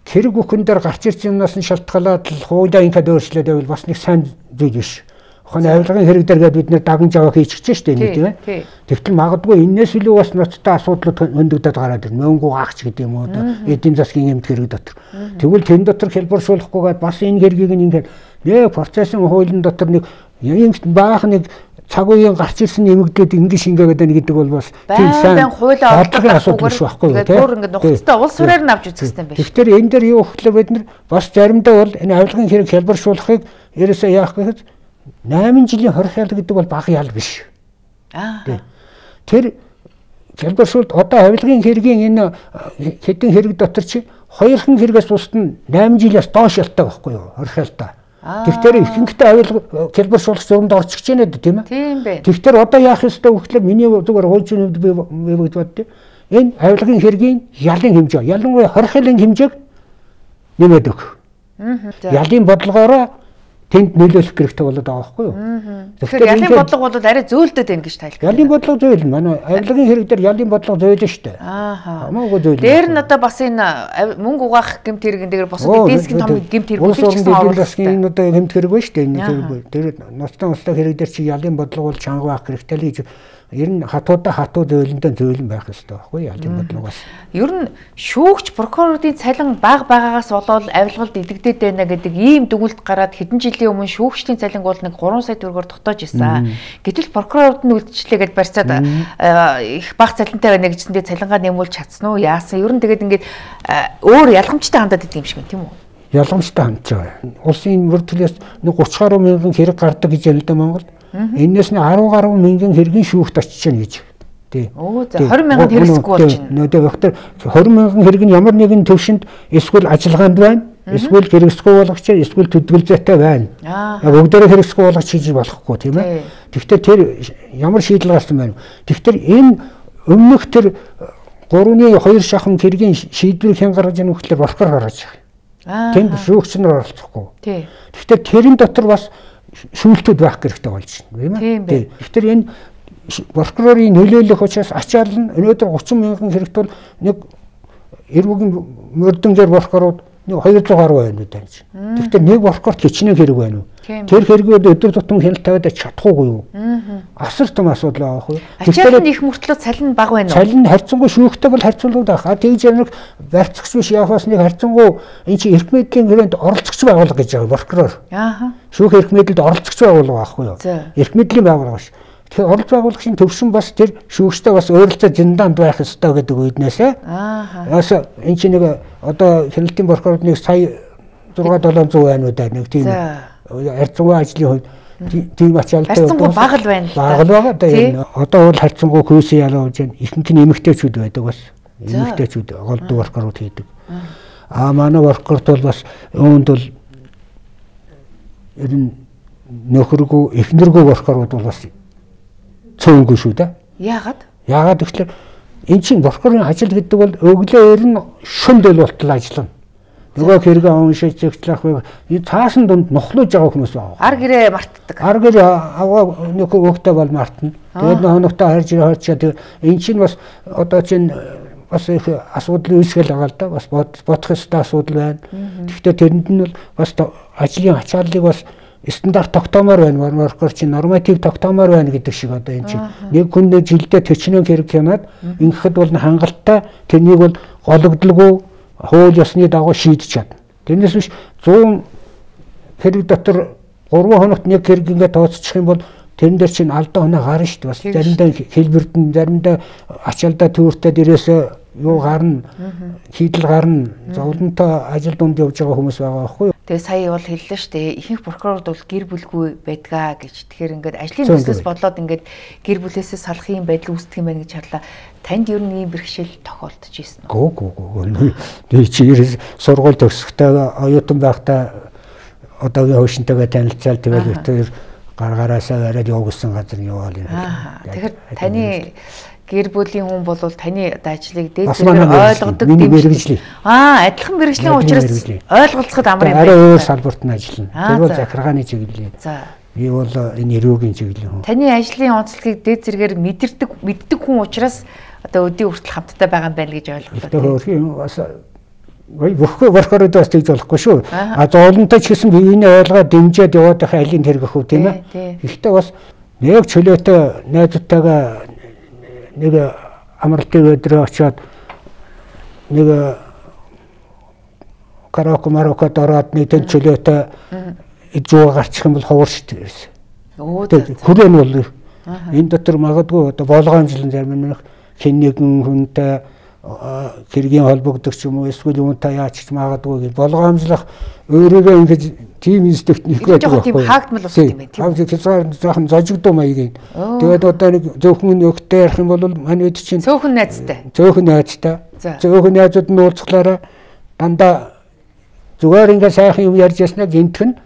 хэрэг бүхэн дээр гарч ирсэн юмнаас нь шалтгаалаад л хуулиа ингээд өөрчлөөд байвал бас нэг сайн зүйл биш. Хонь авилгын хэрэг дээр бид нэр даган жаваа хийчихэж штэ энэ тийм ээ. Тэгтэл магадгүй энэс илүү бас ноцтой асуудлууд хөндөгдөд гараад ирнэ. Мөнгө гаагч гэдэг юм уу одоо эдийн засгийн эмт хэрэг дотор. Тэгвэл тэн дотор хэлбэршүүлэхгүйгээд бас энэ хэргийг ингээд нэг процессын хуулийн дотор нэг юм баах нэг цаг үеийн гарч ирсэн нэмэгдээд ингэ шингээгээд байна гэдэг бол бас тийм сайн хуулийн асуудал биш байхгүй юу тийм. Бүр ингэ нухацтай улс сураар нь авч үзэх хэрэгтэй байна. Тэгэхээр энэ дээр юу гэхлээр бид нар бас заримдаа бол энэ авилгын хэрэг хэлбэршүүлэхийг ерөөсөө яах гэхэд восемь жилийн хорхиал гэдэг бол бага ял биш. Аа. Тэр хэлбэршүүлэлт одоо авилгын хэргийн энэ хэдэн хэрэг дотор чи хоёрхан хэрэгээс бусд нь восемь жилээс доош ялтай байхгүй юу хорхиалтай. Тэгэхээр ихэнхдээ авилга хэлбэршүүлэх зурманд орчих гэж байна тийм ээ. Тийм байна. Тэгэхээр одоо яах ёстой вэ гэхээр миний зүгээр хуучин хувьд би боддоо энэ авилгын хэргийн ялын хэмжээ ялангуяа хорхиалын хэмжээг нэмээд өг. Ялын бодлогоороо тэнд нөлөөлөх хэрэгтэй болоод байгаа байхгүй юу? Тэгэхээр ялын бодлого бол арай зөөлдөд байна гэж тайлбар. Ялын бодлого зөөл манай авилгын хэрэг дээр ялын бодлого зөөлөн шүү дээ. Аа. Хамаагүй зөөл. Дээр нь одоо бас энэ мөнгө угаах гэмт хэрэгэн дээр босод эдийн засгийн том гэмт хэрэг үлдчихсэн оруулалтын энэ одоо гэмт хэрэг байна шүү дээ. Энэ тэр ноцтой ноцтой хэрэг дээр чи ялын бодлого бол чанга байх хэрэгтэй л гэж ер нь хатуудаа хатуу зөөлөндөө зөөлөн байх хэрэгтэй байхгүй ялын бодлогоос. Ер нь шүүгч прокурорын цалин бага байгаагаас болоод авилгалд идэгдээд байна гэдэг ийм дүгнэлт гараад хэдэн жилийн өмнө шүүгчдийн цалин бол нэг гурван сая төгрөгөөр тогтоож ирсэн. Гэтэл прокурорууд нь үйлчлэгээд барьцаад их бага цалинтай байна гэжсэндээ цалингаа нэмүүлж чадсан уу? Яасан? Ер нь тэгээд ингээд өөр ялгамжтай хандаад идэв юм шиг байна тийм үү? Ялгамжтай хандж байгаа. Улсын бүр төлөөс нэг тридцать гаруй мянган хэрэг гардаг гэж байна л да Монгол. Энээс нь десять гаруй мянган хэргийн шүүхт очиж байна гэж. Тий. Оо за двадцать мянган хэрэгсэхгүй болж байна. Нөө тэр двадцать мянган хэрэг нь ямар нэгэн төвшөнд эсвэл ажиллагаанд байна. Эсвэл хэрэгсгүй болгоч, эсвэл төдгөлзөөтэй байна. Яг бүгдээрээ хэрэгсгүй болгоч хийж болохгүй тийм ээ. Тэгвэл тэр ямар шийдэл гарсан байна вэ? Тэгэхээр энэ өмнөх тэр гурвны хоёр шахам хэргийн шийдвэрийг хэн гаргаж яах вэ гэхээр Боркор гаргаж байгаа. Тэнд шүүгч нар оролцохгүй. Тэгэхээр тэрэн дотор бас шүүлтүүд байх хэрэгтэй болж байна тийм ээ. Тэгэхээр энэ прокурорын нөлөөлөх учраас ачаал нь өнөөдөр гучин мянган хэрэгт бол нэг эрүүгийн мөрдөнгээр прокурорууд нэг хоёр зуун гаруй байна уу тааж. Тэгэхээр нэг прокурорт хичнээн хэрэг байна уу? Тэр хэрэгүүд өдөр тутам хяналт тавиад чадахгүй юу? Асар том асуудал байгаа байхгүй юу? Ачаал нь их мөртлөө цалин бага байна уу? Цалин харьцангуй шүүхтэй бол харьцуулбал байх. А тэгж яг барьцагч биш яахаас нэг харьцангуй эн чинь эрх мэдлийн хүрээнд оролцогч байгууллага гэж байгаа прокурор. Аа. Шүүх эрх мэдэлд оролцогч байгууллага байхгүй юу? Эрх мэдлийн байгууллага ш. Тэгэхээр оролц байгуулагчийн төвшин бас тэр шүүгчтэй бас ойролцоо зинданд байх ёстой гэдэг үднээсээ. Аа. Яас эн чинь нэг одоо хяналтын прокурорд нэг сая зургаан долоон зуун байна уу да нэг тийм харьцангуй ажлын хувьд тийм ачаалтай харьцангуй бага л байна. Бага л байгаа да энэ. Одоо бол харьцангуй хөөсөн ялаа болж байна. Ихэнх нь эмэгтэйчүүд байдаг бас. Эмэгтэйчүүд голдуу прокурорууд хийдэг. Аа манай прокурорт бол бас өөнд бол ер нь нөхөргөө эхнэргөө прокурорууд бол бас цөөнгүй шүү дээ. Яагаад? Яагаад гэвэл эн чинь прокурорын ажил гэдэг бол өглөө ер нь шөнд л болтол ажиллана. Нөгөө хэрэг уншиж зэгцлэх вэ? Энэ цаасан дунд нухлууж байгаа хүмүүс байгаа. Ар гэрээ мартдаг. Ар гэрээ аваа нөхөө өөхтэй бол мартна. Тэгээд хоногтой харж харчаа тэг эн чинь бас одоо чинь бас их асуудал үүсгэл байгаа л да. Бас бодох ёстой асуудал байна. Гэхдээ тэрэнд нь бол бас ажлын ачааллыг бас стандарт тогтоомоор байна. Прокурор чинь норматив тогтоомоор байна гэдэг шиг одоо энэ чинь нэг хүнээ жилдээ төрчнөө хэрэг хянаад ингэхэд бол хангалттай тэрнийг бол гологдлгүй хууль ёсны дагуу шийдэж чадна. Тэрнээс биш зуун хэрэг дотор гурван хоногт нэг хэрэг ингээд тооцчих юм бол тэрэн дээр чинь алдаа оноо гарна шүү дээ. Бас заримдаа хэлбэрдэн заримдаа ачаалдаа төөртэй дээрээс юу гарна, хийдэл гарна, зовлонтой ажил дунд явж байгаа хүмүүс байгаа байхгүй юу? Тэгээ сая бол хэллээ шүү дээ. Ихэнх прокурорд бол гэр бүлгүй байдгаа гэж. Тэгэхээр ингээд ажлын төслөөс болоод ингээд гэр бүлээсээ салах юм байдал үүсдэг юм байна гэж харлаа. Танд ер нь ийм бэрхшээл тохиолдож ирсэн үү? Гүү гүү гүү. Би чи сургууль төгсөхдөө оюутан байхдаа одоогийн хөвшинтэйгээ танилцал тэгээд тэр гаргаараасаа арай явуулсан газар яваал юм. Тэгэхээр таны гэр бүлийн хүн бол таны ажлыг дээд зэрэг ойлгодог дэмжлэг. Аа, адилхан мэргэжлийн учраас ойлголцоход амар юм байна. Арай өөр салбарт нь ажиллана. Тэр бол захиргааны чиглэл. За. Би бол энэ эрүүгийн чиглэлийн хүн. Таны ажлын онцлогийг дээд зэрэгээр мэдэрдэг мэддэг хүн учраас одоо өдөө хүртэл хамтдаа байгаа юм байна гэж ойлголоо. Тэгэхээр бас Ой бүхгүй прокурорд бас тэгж болохгүй шүү. А зоолонтой ч гэсэн биений ойлгоо дэмжиж яваад байх алийг хэрэгэх үү тийм ээ. Гэхдээ бас нэг чөлөөтэй найзтайгаа нэг амралтын өдрөө очиод нэг караоке марокод ороод нэг тэн чөлөөтэй ижүү гарчих юм бол ховор шүү дээ. Оо хүрээ нь бол энэ дотор магадгүй одоо болгоомжлон зарим нэг хэн нэгэн хүнтэй хэргийн холбогдох юм уу эсвэл юунтай яач ч магадгүй гэж болгоомжлох өөрөөгөө ингэж тийм инстинкт нэг байдаг байхгүй. Тийм хаагдмал ус юм байна. Тийм хязгаар жоохон зожигдуу маягийн. Тэгээд одоо нэг зөвхөн өгтэй ярих юм бол манайд чинь цөөхөн найзтай. Цөөхөн найзтай. Цөөхөн найзууд нь уулзахлаараа дандаа зүгээр ингээ сайхан юм ярьж яснаа гинтэх нь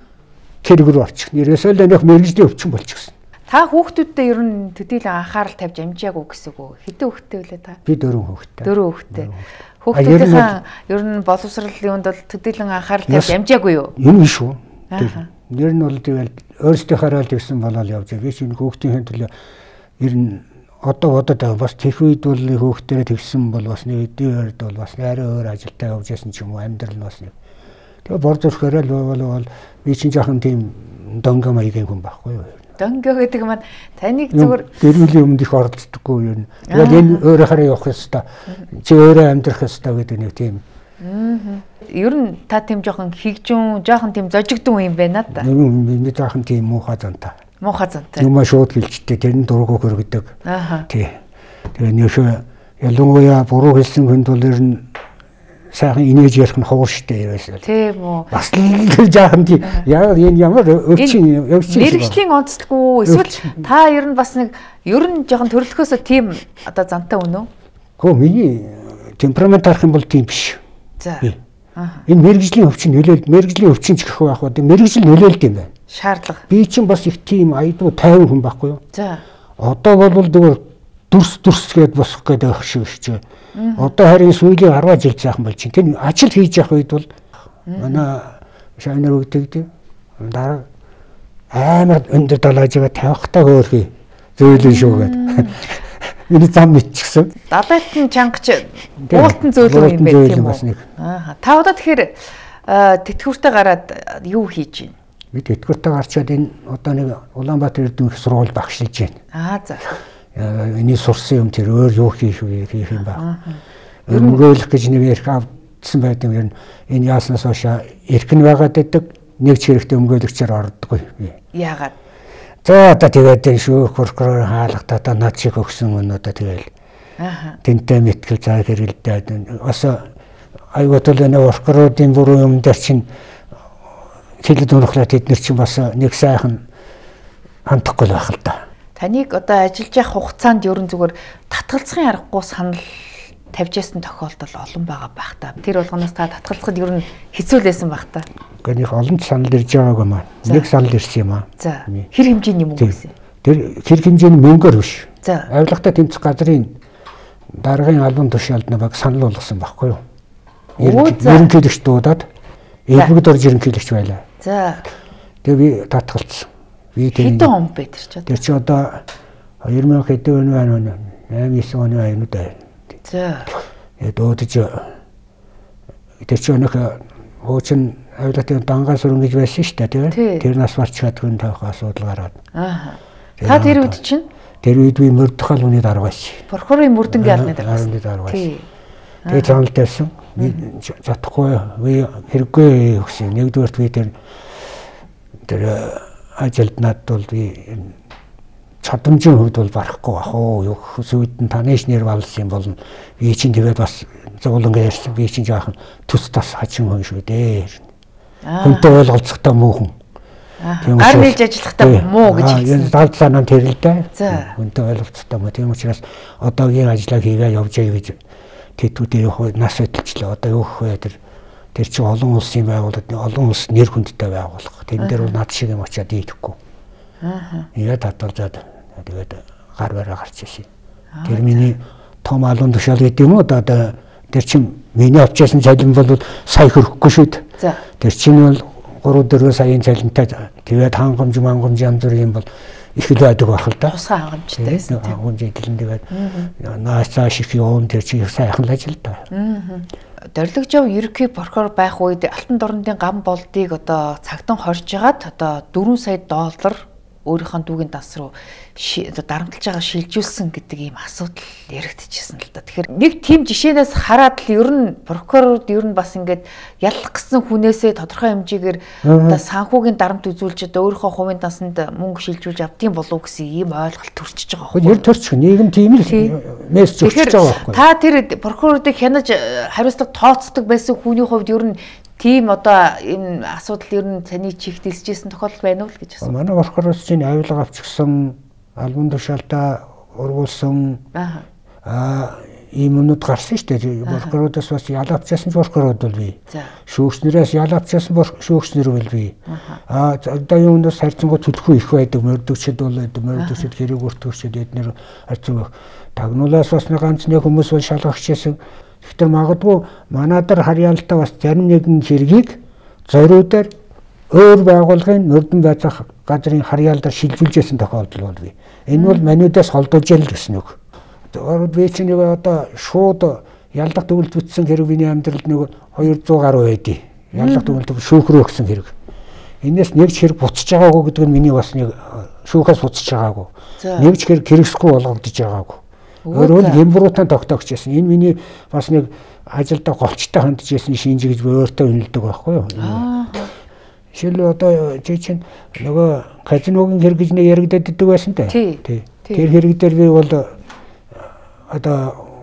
хэрэг рүү орчих. Ерөөсөө л нэг мэрэгжлийн өвчин болчихсон. Та хүүхдүүдтэй ер нь төдийлөн анхаарал тавьж амжаагүй гэсэн үг. Хэдэн хүүхдтэй вүлээ та? Би дөрвөн хүүхдтэй. Дөрвөн хүүхдтэй. Хүүхдүүдийн ер нь боловсролын юунд бол төдийлөн анхаарал тавьж амжаагүй юу? Юм шүү. Нэр нь бол тэгэл өөрсдийнхөө хараал гэсэн болол явж байгаа. Би чинь хүүхдийн төлөө ер нь одоо бодоод байгаа. Бас тех үед бол хүүхдээрээ тэгсэн бол бас нэг эдийн бол бас арай өөр ажилдаа явж ясан ч юм уу амьдрал нь бас нэг. Тэгээ бор зүрхээрээ л бол би чинь жоохон тийм донго маягийн хүн байхгүй юу? Донго гэдэг маань таныг зүгээр гэр бүлийн өмнө их оролцдоггүй юм. Тэгэл энэ өөрөө хараа явах ёстой. Чи өөрөө амьдрах ёстой гэдэг нэг тийм. Аа. Ер нь та тийм жоохон хигжүүн, жоохон тийм зожигдсон юм байна да. Юм би жоохон тийм муухай зантай. Муухай зантай. Юм шууд хэлжтэй тэрний дургу хөргөдөг. Аа. Тий. Тэгээ нөхөө ялангуяа буруу хэлсэн хүнд бол ер нь сайхан инээж ярих нь ховор штэ ерөөсөө. Тийм үү. Бас л жаахан тийм яа энэ ямар өвчин өвчин мэргэжлийн онцлоггүй эсвэл та ер нь бас нэг ер нь жоохон төрөлхөөсөө тийм одоо зантай үнэ үү? Хөө миний темперамент харах юм бол тийм биш. За. Энэ мэрэгжлийн өвчин нөлөөлд мэрэгжлийн өвчин ч гэх байх уу. Мэрэгжил нөлөөлд юм байна. Шаардлага. Би чинь бас их тийм айдуу тайван хүн байхгүй юу? За. Одоо бол зүгээр дүрс дүрс гээд босох гэдэг ах шиг шүү. Одоо харин сүүлийн арваа жил цаахан болж чинь. Тэр ажил хийж явах үед бол манай шавнар өгдөг. Дараа амар өндөр далаажгаа тавихтаа хөөрхий зөөлөн шүү гэдэг. Миний зам мэдчихсэн. Далайтан чангач уултан зөөлөн юм байх тийм үү? Аа. Та одоо тэгэхээр тэтгэвртэ гараад юу хийж байна? Би тэтгэвртэ гарчаад энэ одоо нэг Улаанбаатар эрдэнэ их сургууль багшилж байна. Аа за. Эний сурсан юм тэр өөр юу хийх вэ хийх юм байна. Өрмгөөлөх гэж нэг ярих авдсан байдаг юм. Энэ яаснаас хойш эрхэн байгаад байдаг. Нэг ч хэрэгтэй өмгөөлөгчээр ордоггүй. Яагаад? За одоо тэгээд энэ шүүх прокурор хаалгатаа одоо над шиг өгсөн өнөөдөө тэгэл. Аа. Тэнтэй мэтгэл цаа хэрэгэлдээд бас айгуутал энэ прокурорын бүрэн юм дээр чинь хэлэд унахлаа тэд нар чинь бас нэг сайхан хандахгүй байх л да. Таныг одоо ажиллаж явах хугацаанд ерөн зүгээр татгалзахын аргагүй санал тавьж ясан тохиолдол олон байгаа байх та. Тэр болгоноос та татгалзахад ер нь хэцүүлсэн байх та. Гэхдээ нэг олон санал ирж байгааг юм аа. Нэг санал ирсэн юм аа. За. Хэр хэмжээний мөнгө гэсэн? Тэр хэр хэмжээний мөнгөөр биш. За. Авилгатай тэмцэх газрын даргын албан тушаалдны баг санал болгосон байхгүй юу? Ерөнхийлөгч дуудаад элбэгд орж ерөнхийлөгч байлаа. За. Тэгээ би татгалцсан. Би тэр хэдэн он бэ тэр чи одоо? Тэр чи одоо хоёр мянга хэдэн он байна вэ? восемь девять оны аюу да. За. Э дуудаж тэр чи өнөх хуучин авилгатын дангаа сүрэн гэж байсан шүү дээ тийм. Тэр нас барч чадгүй тавих асуудал гараад. Аа. Та тэр үед чинь тэр үед би мөрдөхөл үний дарга байсан. Прокурорын мөрдөнгийн албаны дарга. Албаны дарга байсан. Тэгээ цаанал тавьсан. Би чадахгүй би хэрэггүй өгсөн. Нэгдүгээрт би тэр тэр ажилд надад бол би чадамжийн хувьд бол барахгүй бах уу. Юу хүсвэд нь таны нэр валсан юм болно. Би чинь тэгээд бас зовлонго ярьсан. Би чинь жаахан төс тас хачин хүн шүү дээ. Хүнтэй ойлголцохтой муу хүн. Гар нээж ажиллахдаа муу гэж хэлсэн. Далд санаа тэр л дээ. Хүнтэй ойлголцохтой муу. Тийм учраас одоогийн ажлаа хийгээ явж яа гэж тэтгэврийн нас хөдөлчлээ. Одоо юу гэх вэ тэр тэр чинь олон улсын байгууллага, олон улс нэр хүндтэй байгууллага. Тэн дээр бол над шиг юм очиад ийдэхгүй. Аа. Яа татварзаад тэгээд гар бараа гарч ирсэн. Тэр миний том албан тушаал гэдэг юм уу? Одоо тэр чинь миний авчаасан цалин бол сая хөрөхгүй шүү дээ. За. Тэр чинь бол гурав дөрвөн саяын цалинтай тэгээд хангамж мангамж янз бүрийн бол их л байдаг байх л да. Тусгай хангамжтай байсан тийм. Хангамж эдлэн тэгээд наас цааш их явуун тэр чинь сайхан л ажил да. Аа. Дорлогжов ерөнхий прокурор байх үед алтан дорнодын гам болдыг одоо цагтан хорж жагаад одоо дөрвөн сая доллар өөрийнхөө дүүгийн данс руу одоо дарамтлаж байгаа шилжүүлсэн гэдэг ийм асуудал яригдчихсэн л да. Тэгэхээр нэг тийм жишээнээс хараад л ер нь прокурорд ер нь бас ингээд ялах гэсэн хүнээсээ тодорхой хэмжээгээр одоо санхүүгийн дарамт үзүүлж одоо өөрийнхөө хувийн дансанд мөнгө шилжүүлж авдгийн болов гэсэн ийм ойлголт төрчихөж байгаа байхгүй. Яг төрчих нийгэм тийм л мессеж өгч байгаа байхгүй. Та тэр прокурорыг хянаж хариуцлага тооцдог байсан хүний хувьд ер нь тийм одоо энэ асуудал ер нь таны чихд илжсэн тохиолдол байна уу л гэж асуусан. Манай прокурорч чинь авилга авчихсан, албан тушаалтаа ургуулсан. Аа ийм юмуд гарсан шүү дээ. Прокурорудаас бас ял авчихсан прокурорууд бол бий. Шүүгчнэрээс ял авчихсан шүүгчнэр бол бий. Аа одоо юундаас харьцангуй төлөхгүй их байдаг. Мордөгчд бол байдаг. Мордөгчд хэрэг өртөгчд эднэр харьцангуй тагнуулаас бас нэг ганц нэг хүмүүс бол шалгагчсэн. Тэгэхээр магадгүй манайдар харьяалтаа бас зарим нэгэн хэргийг зориудаар өөр байгууллагын мөрдөн байцаах газрын харьяалдаар шилжүүлжсэн тохиолдол бол бий. Энэ бол манайдаас холдуулж ял гэсэн үг. Одоо би чинь нэг одоо шууд ялдах төгөлд бүтсэн хэрэг миний амьдралд нэг хоёр зуун гаруй байдیں۔ Ялдах төгөлд шүүхрөө өгсөн хэрэг. Энээс нэг ч хэрэг буцаж байгаагүй гэдэг нь миний бас нэг шүүхээс буцаж байгаагүй. Нэг ч хэрэг хэрэгсэхгүй болгогдож байгаагүй. Өөрөөр хэмбруудаа тогтоогч байсан. Энэ миний бас нэг ажилдаа голчтой хандж байсан шинж гэж өөртөө үнэлдэг байхгүй юу? Жишээл одоо чи чинь нөгөө казиногийн хэрэг гэж нэг яригддаг байсан те. Тий. Тэр хэрэг дээр би бол одоо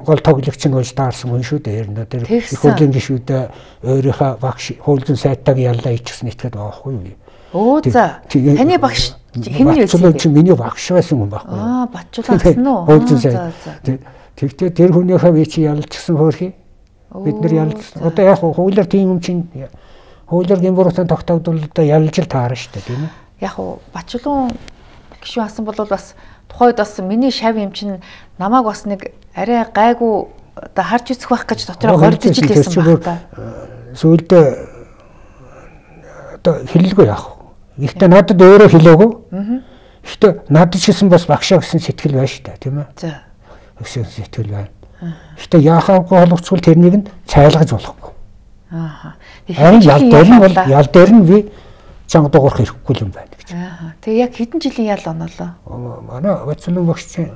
гол тоглогч нь болж таарсан хүн шүү дээ. Тэр их хурлын гишүүдээ өөрийнхөө багш хуулзан сайтаг яллаа ичсэн итгэдэг байгаа байхгүй юу? Оо за. Таны багш хэний байсан бэ? Чи миний багш байсан хүн байхгүй юу? Аа, Батчулаа гэсэн үү? Хуулзан сайт. Тэгтээ тэр хүнийхээ би чи ялчихсан хөөрхий. Бид нар ялсан. Одоо яг хуулиар тийм юм чинь хуулиар гэмбуруутай тогтоогдвол одоо ялж л таарна шүү дээ, тийм ээ. Яг уу Бачулуун гишүүн асан бол бас тухайд бас миний шав юм чинь намайг бас нэг арай гайгүй одоо харж үзэх байх гэж дотроо гордож л байсан байна та. Сүүлдээ одоо хэллгүй яах вэ? Гэхдээ надад өөрөө хэлээгүй. Гэхдээ надад ч гэсэн бас багшаа гэсэн сэтгэл байна шүү дээ, тийм ээ. За. Гэсэн сэтгэл байна. Гэхдээ яахаагүй боловчвол тэрнийг нь цайлгаж болохгүй. Аа. Тэгэхээр ял дээр нь бол ял дээр нь би чанга дуурах хэрэггүй юм байна гэж. Аа. Тэгээ яг хэдэн жилийн ял онолоо? Манай Бацлын багш чинь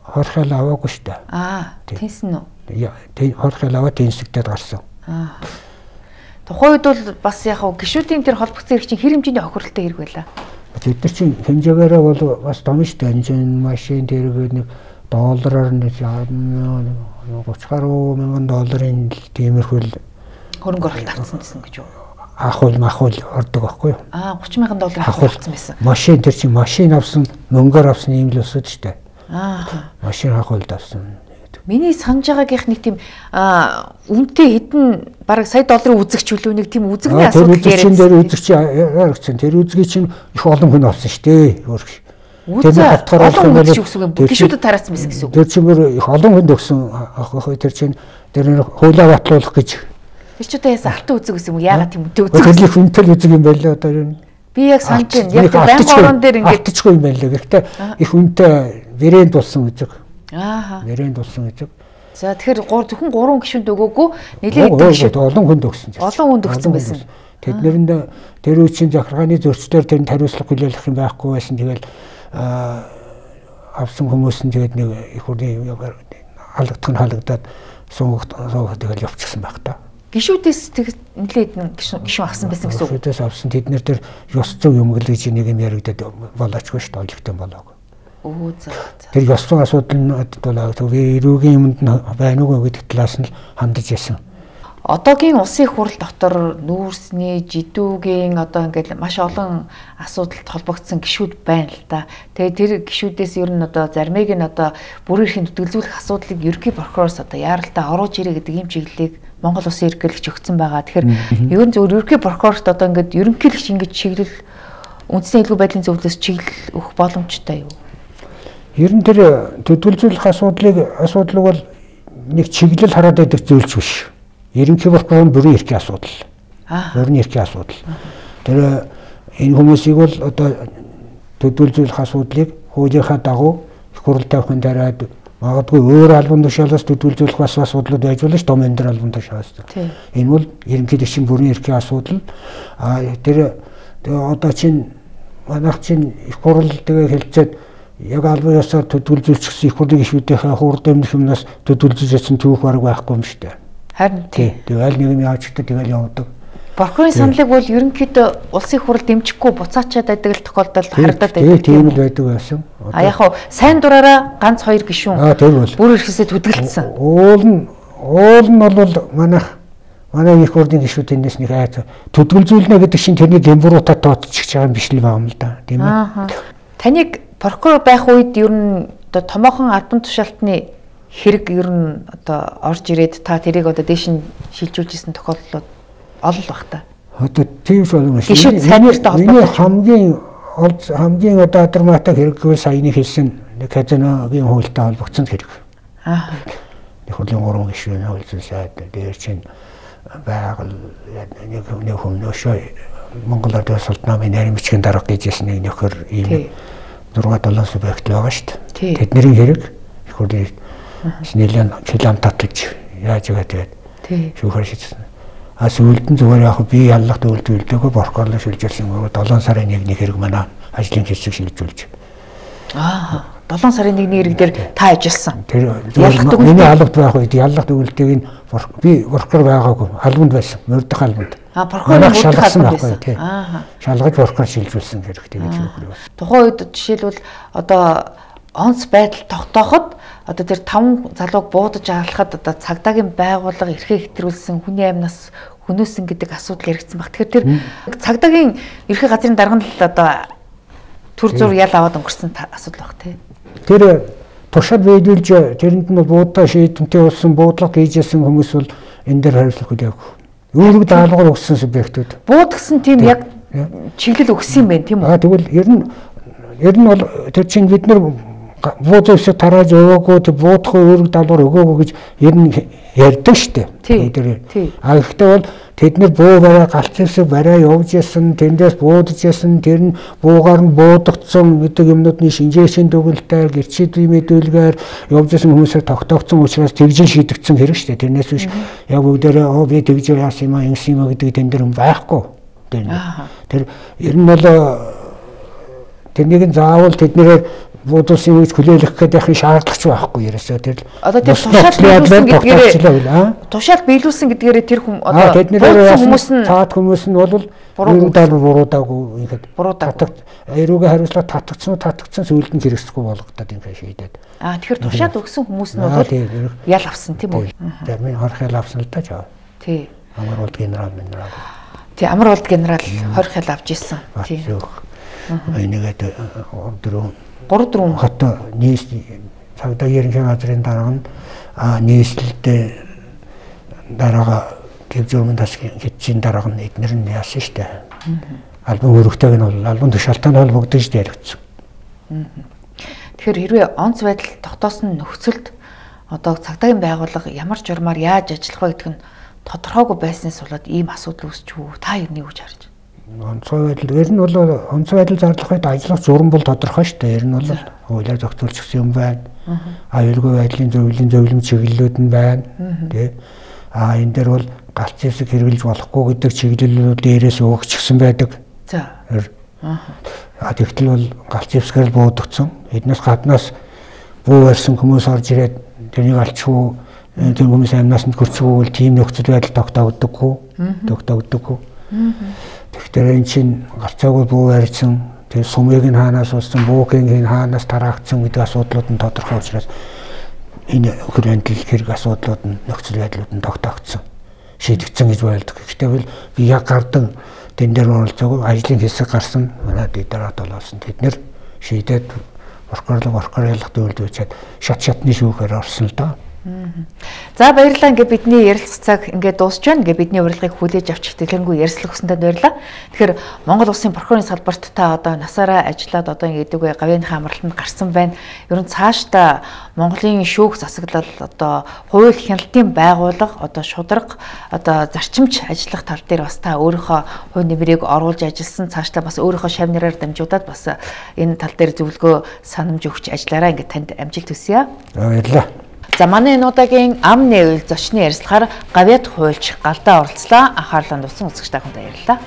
хорхол аваагүй шүү дээ. Аа. Тэнсэн үү? Яа, тийм хорхол аваад тэнсэгдээд гарсан. Аа. Тухайн үед бол бас яг гишүүдийн тэр холбогдсон хэрэг чинь хэр хэмжээний охирлтой хэрэг байлаа. Бид нар чинь хэмжээгээрээ бол бас том шүү дээ. Энэ машин дээрээ нэг доллараар нэг гуйч гаруй мянган долларын тиймэрхүүл хөрөнгө оруулалт авсан гэсэн гэж юу? Ахуул махуул ордог байхгүй юу? Аа гуйч мянган доллар авсан байсан. Машин тэр чинь машин авсан, мөнгөөр авсан юм л өсөд шүү дээ. Аа. Машин ахуулд авсан. Миний санаж байгаагийнх нэг тийм үнэтэй хэдэн бараг сая долларын үзэгч үлээ нэг тийм үзэгний асуудал яриад. Тэр үзэгч яригдсан. Тэр үзгийг чинь их олон хүн авсан шүү дээ. Өөрөг. Тэр олон хүн гэж үсэг юм. Гişүүдэд тараасан байсан гэсэн үг. Тэр чинь их олон хүнд өгсөн ах ах тэр чинь тэр хуулаа батлуулах гэж. Тэр ч одоо яасан алтан үзэг гэсэн юм. Яагаад тийм үнэтэй үзэг? Тэр их үнэтэй үзэг юм байлаа одоо юу. Би яг санаж байна. Яг тэр банк орон дээр ингээд алтчгүй юм байлаа. Гэхдээ их үнэтэй вэрэнд болсон үзэг. Аа. Вэрэнд болсон үзэг. За тэгэхээр зөвхөн гурван гишүүнд өгөөгүй нэлээд гишүүд олон хүнд өгсөн. Олон хүнд өгсөн байсан. Тэднэрэнд тэр үеийн захиргааны зөрчлөөр тэр хариуцлага хүлээлгэх юм байхгүй байсан. Тэгэл авсан хүмүүс нь тэгээд нэг их үрийн халагдах нь халагдаад суугт суугт тэгэл явчихсан байх та. Гишүүдээс нэлээд гишүүн авсан байсан гэсэн үг. Гишүүдээс авсан тэднэр тэр ёс зүйн юм гэл гэж нэг юм яригдаад болоочгүй шүү дээ. Олигтой болоогүй. Оо за. Тэр ёс зүйн асуудал нь бол эрүүгийн юмд байна уу гэдэг талаас нь хандаж ясан. Одоогийн улсын их хурл дотор нүүрсний, жидүүгийн одоо ингээд маш олон асуудалд холбогдсон гишүүд байна л да. Тэгээ тэр гишүүдээс ер нь одоо зармыг нь одоо бүр ихийн төтөлзүүлэх асуудлыг ерөнхий прокуророос одоо яаралтай оруулж ирээ гэдэг юм чиглэлийг Монгол Улсын ерөнхийлөгч өгсөн байгаа. Тэгэхээр ер нь зөвхөн ерөнхий прокурорт одоо ингээд ерөнхийлөгч ингэж чиглэл үндэсний элгүй байдлын зөвлөлөөс чиглэл өгөх боломжтой юу? Ер нь тэр төтөлзүүлэх асуудлыг асуудал бол нэг чиглэл хараад байдаг зүйлч биш. Ерөнхий прокурор бүрийн эрхийн асуудал. Аа. Бүрийн эрхийн асуудал. Тэр энэ хүмүүсийг бол одоо төдөлзүүлэх асуудлыг хуулийнхаа дагуу их хурл тавихын дараад магадгүй өөр албан тушаалаас төдөлзүүлэх бас асуудлууд байж болно ш том энэ албан тушаалаас. Энэ бол ерөнхийлөгчийн бүрийн эрхийн асуудал. Аа тэр одоо чинь манайх чинь их хурл тэгээ хэлцээд яг албан ёсоор төдөлзүүлчихсэн их хурлын гишүүдийнхээ хурд өмнөх юмнаас төдөлзүүлсэн түүх бараг байхгүй юм шүү дээ. Харин тий. Тэгэл нэг юм яачдаг тэгэл явдаг. Прокурорын саналыг бол ерөнхийдөө улсын хурал дэмжихгүй буцаачаад байдаг л тохиолдолд харагдаад байдаг. Тийм л байдаг байсан. А яг хуу сайн дураараа ганц хоёр гишүүн бүр ихэсээ төдөлдсөн. Уул нь уул нь бол манайх манай их хурлын гишүүд энэс нэг айц төдөлзүүлнэ гэдэг чинь тэрний гэмбуруудад тооцчих байгаа юм биш л байгаа юм л да. Тийм ээ. Таныг прокурор байх үед ер нь одоо томоохон албан тушаалтны хэрэг ер нь одоо орж ирээд та тэрийг одоо дээш нь шилжүүлжсэн тохиолдлууд олон баг та. Одоо тийм ч болов шүү. Гишүүд сайнэртэй холбоотой хамгийн хамгийн одоо драматик хэрэг гэвэл саяны хэлсэн нэг казиногийн хуультай холбогдсон хэрэг. Аа. Нэг хурлын гурван гишүүн хуульцсан сайд дээр чинь байгаль нэг нэг хүмүүшөө Монгол Улсын Султнамын нарийн бичгийн дарга гэжсэн нэг нөхөр ийм зураг долоон субъект байгаа шүү дээ. Тэдний хэрэг их хурлын нэлээд хилам татлаж яаж байгаа тэгээд шүүхээр шийдсэн. А сүүлд нь зүгээр яг би яллах төлөвлөлтөөгөө прокурорлоо шилжүүлсэн нөгөө долоон сарын нэгний хэрэг манай ажлын хэсэг шилжүүлж. Аа долоон сарын нэгний хэрэг дээр та ажилласан. Тэр миний албад байх үед яллах төлөвлөлтийг нь би прокурор байгаагүй албанд байсан. Мордох албанд. А прокурор шалгасан байхгүй тий. Аа шалгаж прокурор шилжүүлсэн хэрэгтэй гэж үг. Тухайн үед жишээлбэл одоо онц байдал тогтооход одоо тэр таван залууг буудаж алхахад одоо цагдаагийн байгууллага эрхээ хэтрүүлсэн хүний амнаас хөнөөсөн гэдэг асуудал яригдсан баг. Тэгэхээр тэр цагдаагийн ерхий газрын дарга нь л одоо төр зур ял аваад өнгөрсөн асуудал баг тий. Тэр Туршаад биелүүлж тэрэнд нь буудаа шийдэмтэй болсон буудлага хийжсэн хүмүүс бол энэ дээр хариуцлах үгүй яг. Үүрэг даалгавар өгсөн субъектүүд. Буудагсан тийм яг чиглэл өгсөн юм байна тийм үү? Аа тэгвэл ер нь ер нь бол тэр чинь бид нар буудагсаа тарааж өгөөгүй тэг буудах үүрэг даалгавар өгөөгүй гэж ер нь ярьдаг штэ. Тэр. А ихтэй бол тэд нэр буу бараа галцсан бараа явж ясан тэндээс буудаж ясан тэр нь буугаар нь буудагдсан гэдэг юмнуудны шинжээчийн дүгэлтээр гэрчид мэдүүлгээр явж ясан хүмүүсээр тогтоогдсон учраас тэгжин шийдэгдсэн хэрэг штэ. Тэрнээс биш яг бүгдээрээ оо би тэгж яасан юм а ингэсэн юм а гэдэг тэн дээр юм байхгүй. Тэр ер нь бол тэрнийг заавал тэднэрээ буудуулсан үеч хүлээлгэх гэдэг нь шаардлагач байхгүй ерөөсөө тэр одоо тэр тушаал биелүүлсэн гэдгээрээ тушаал биелүүлсэн гэдгээрээ тэр хүм одоо хүмүүс нь цаад хүмүүс нь бол буруу даал буруудаагүй ингээд буруудаа эрүүгээ хариуцлага татгцсан татгцсан сүйлд нь хэрэгсэхгүй болгодод юм шийдээд аа тэгэхээр тушаал өгсөн хүмүүс нь бол ял авсан тийм үү тэр минь хорх ял авсан л да жаа тий амар болд генерал минерал тий амар болд генерал хорх ял авч ирсэн тий энийгээд дөрөв гурав дөрөв хот нийс цагдаа ерөнхий газрын дарга нь нийслэлдээ дараага гэвжүүрмэн тас хэтчийн дарга нь эднэр нь яасан штэ. Албан өргөтэйг нь бол албан тушаалтай нь холбогдож яригдсан. Тэгэхээр хэрвээ онц байдал тогтоосон нөхцөлд одоо цагдаагийн байгууллага ямар журмаар яаж ажиллах вэ гэдэг нь тодорхойгүй байснаас болоод ийм асуудал үүсч үү? Та юуны гэж харж байна? Онцгой байдал ер нь бол онцгой байдал зарлах үед ажиллах журам бол тодорхой шүү дээ. Ер нь бол хуулиар зохицуулчихсан юм байна. Аюулгүй байдлын зөвлөлийн зөвлөм чиглэлүүд нь байна. Тэ. А энэ дээр бол галт зэвсэг хэрэгжилж болохгүй гэдэг чиглэлүүд дээрээс өгчихсэн байдаг. За. А тэгтэл бол галт зэвсгээр буудагдсан. Эднээс гаднаас буу барьсан хүмүүс орж ирээд тэрнийг алчгүй тэр хүмүүс амнаас нь хөрчгүй бол тийм нөхцөл байдал тогтоогддоггүй. Тогтоогддоггүй. Тэгэхээр эн чинь галцаагүй буу барьсан, тэр сумыг нь хаанаас болсон, буугийн хаанаас тараагдсан гэдэг асуудлууд нь тодорхой учраас энэ хөрөндөл хэрэг асуудлууд нь нөхцөл байдлууд нь тогтоогдсон, шийдэгдсэн гэж байлдаг. Гэхдээ би яг гардан тэн дээр оролцоогүй ажлын хэсэг гарсан, манай дэдэрат болоосон. Тэд нэр шийдээд прокурорлог прокурорлог дүүлдүүлчихэд шат шатны шүүхээр орсон л доо. За баярлалаа. Ингээ бидний ярилцах цаг ингээ дуусч байна. Ингээ бидний урилгыг хүлээж авч хэлэнгүй ярилцлах хүсэнтэй баярлалаа. Тэгэхээр Монгол улсын прокурорын салбарт та одоо насаараа ажиллаад одоо ингээ дүүгээ гавьяаныхаа амралтанд гарсан байна. Ер нь цаашдаа Монголын шүүх засаглал одоо хууль хяналтын байгууллага одоо шударга одоо зарчимч ажиллах тал дээр бас та өөрийнхөө хувь нэмрийг оруулж ажилласан. Цаашдаа бас өөрийнхөө шав нэрээр дамжуулаад бас энэ тал дээр зөвлөгөө санамж өгч ажиллаараа ингээ танд амжилт хүсье. Баярлалаа. За манай энэ удаагийн ам нээвэл зочны ярилцлагаар гавьяат хуульч галдаа оролцлоо. Анхаарлаа нуусан үзэгч та бүхэнд баярлалаа.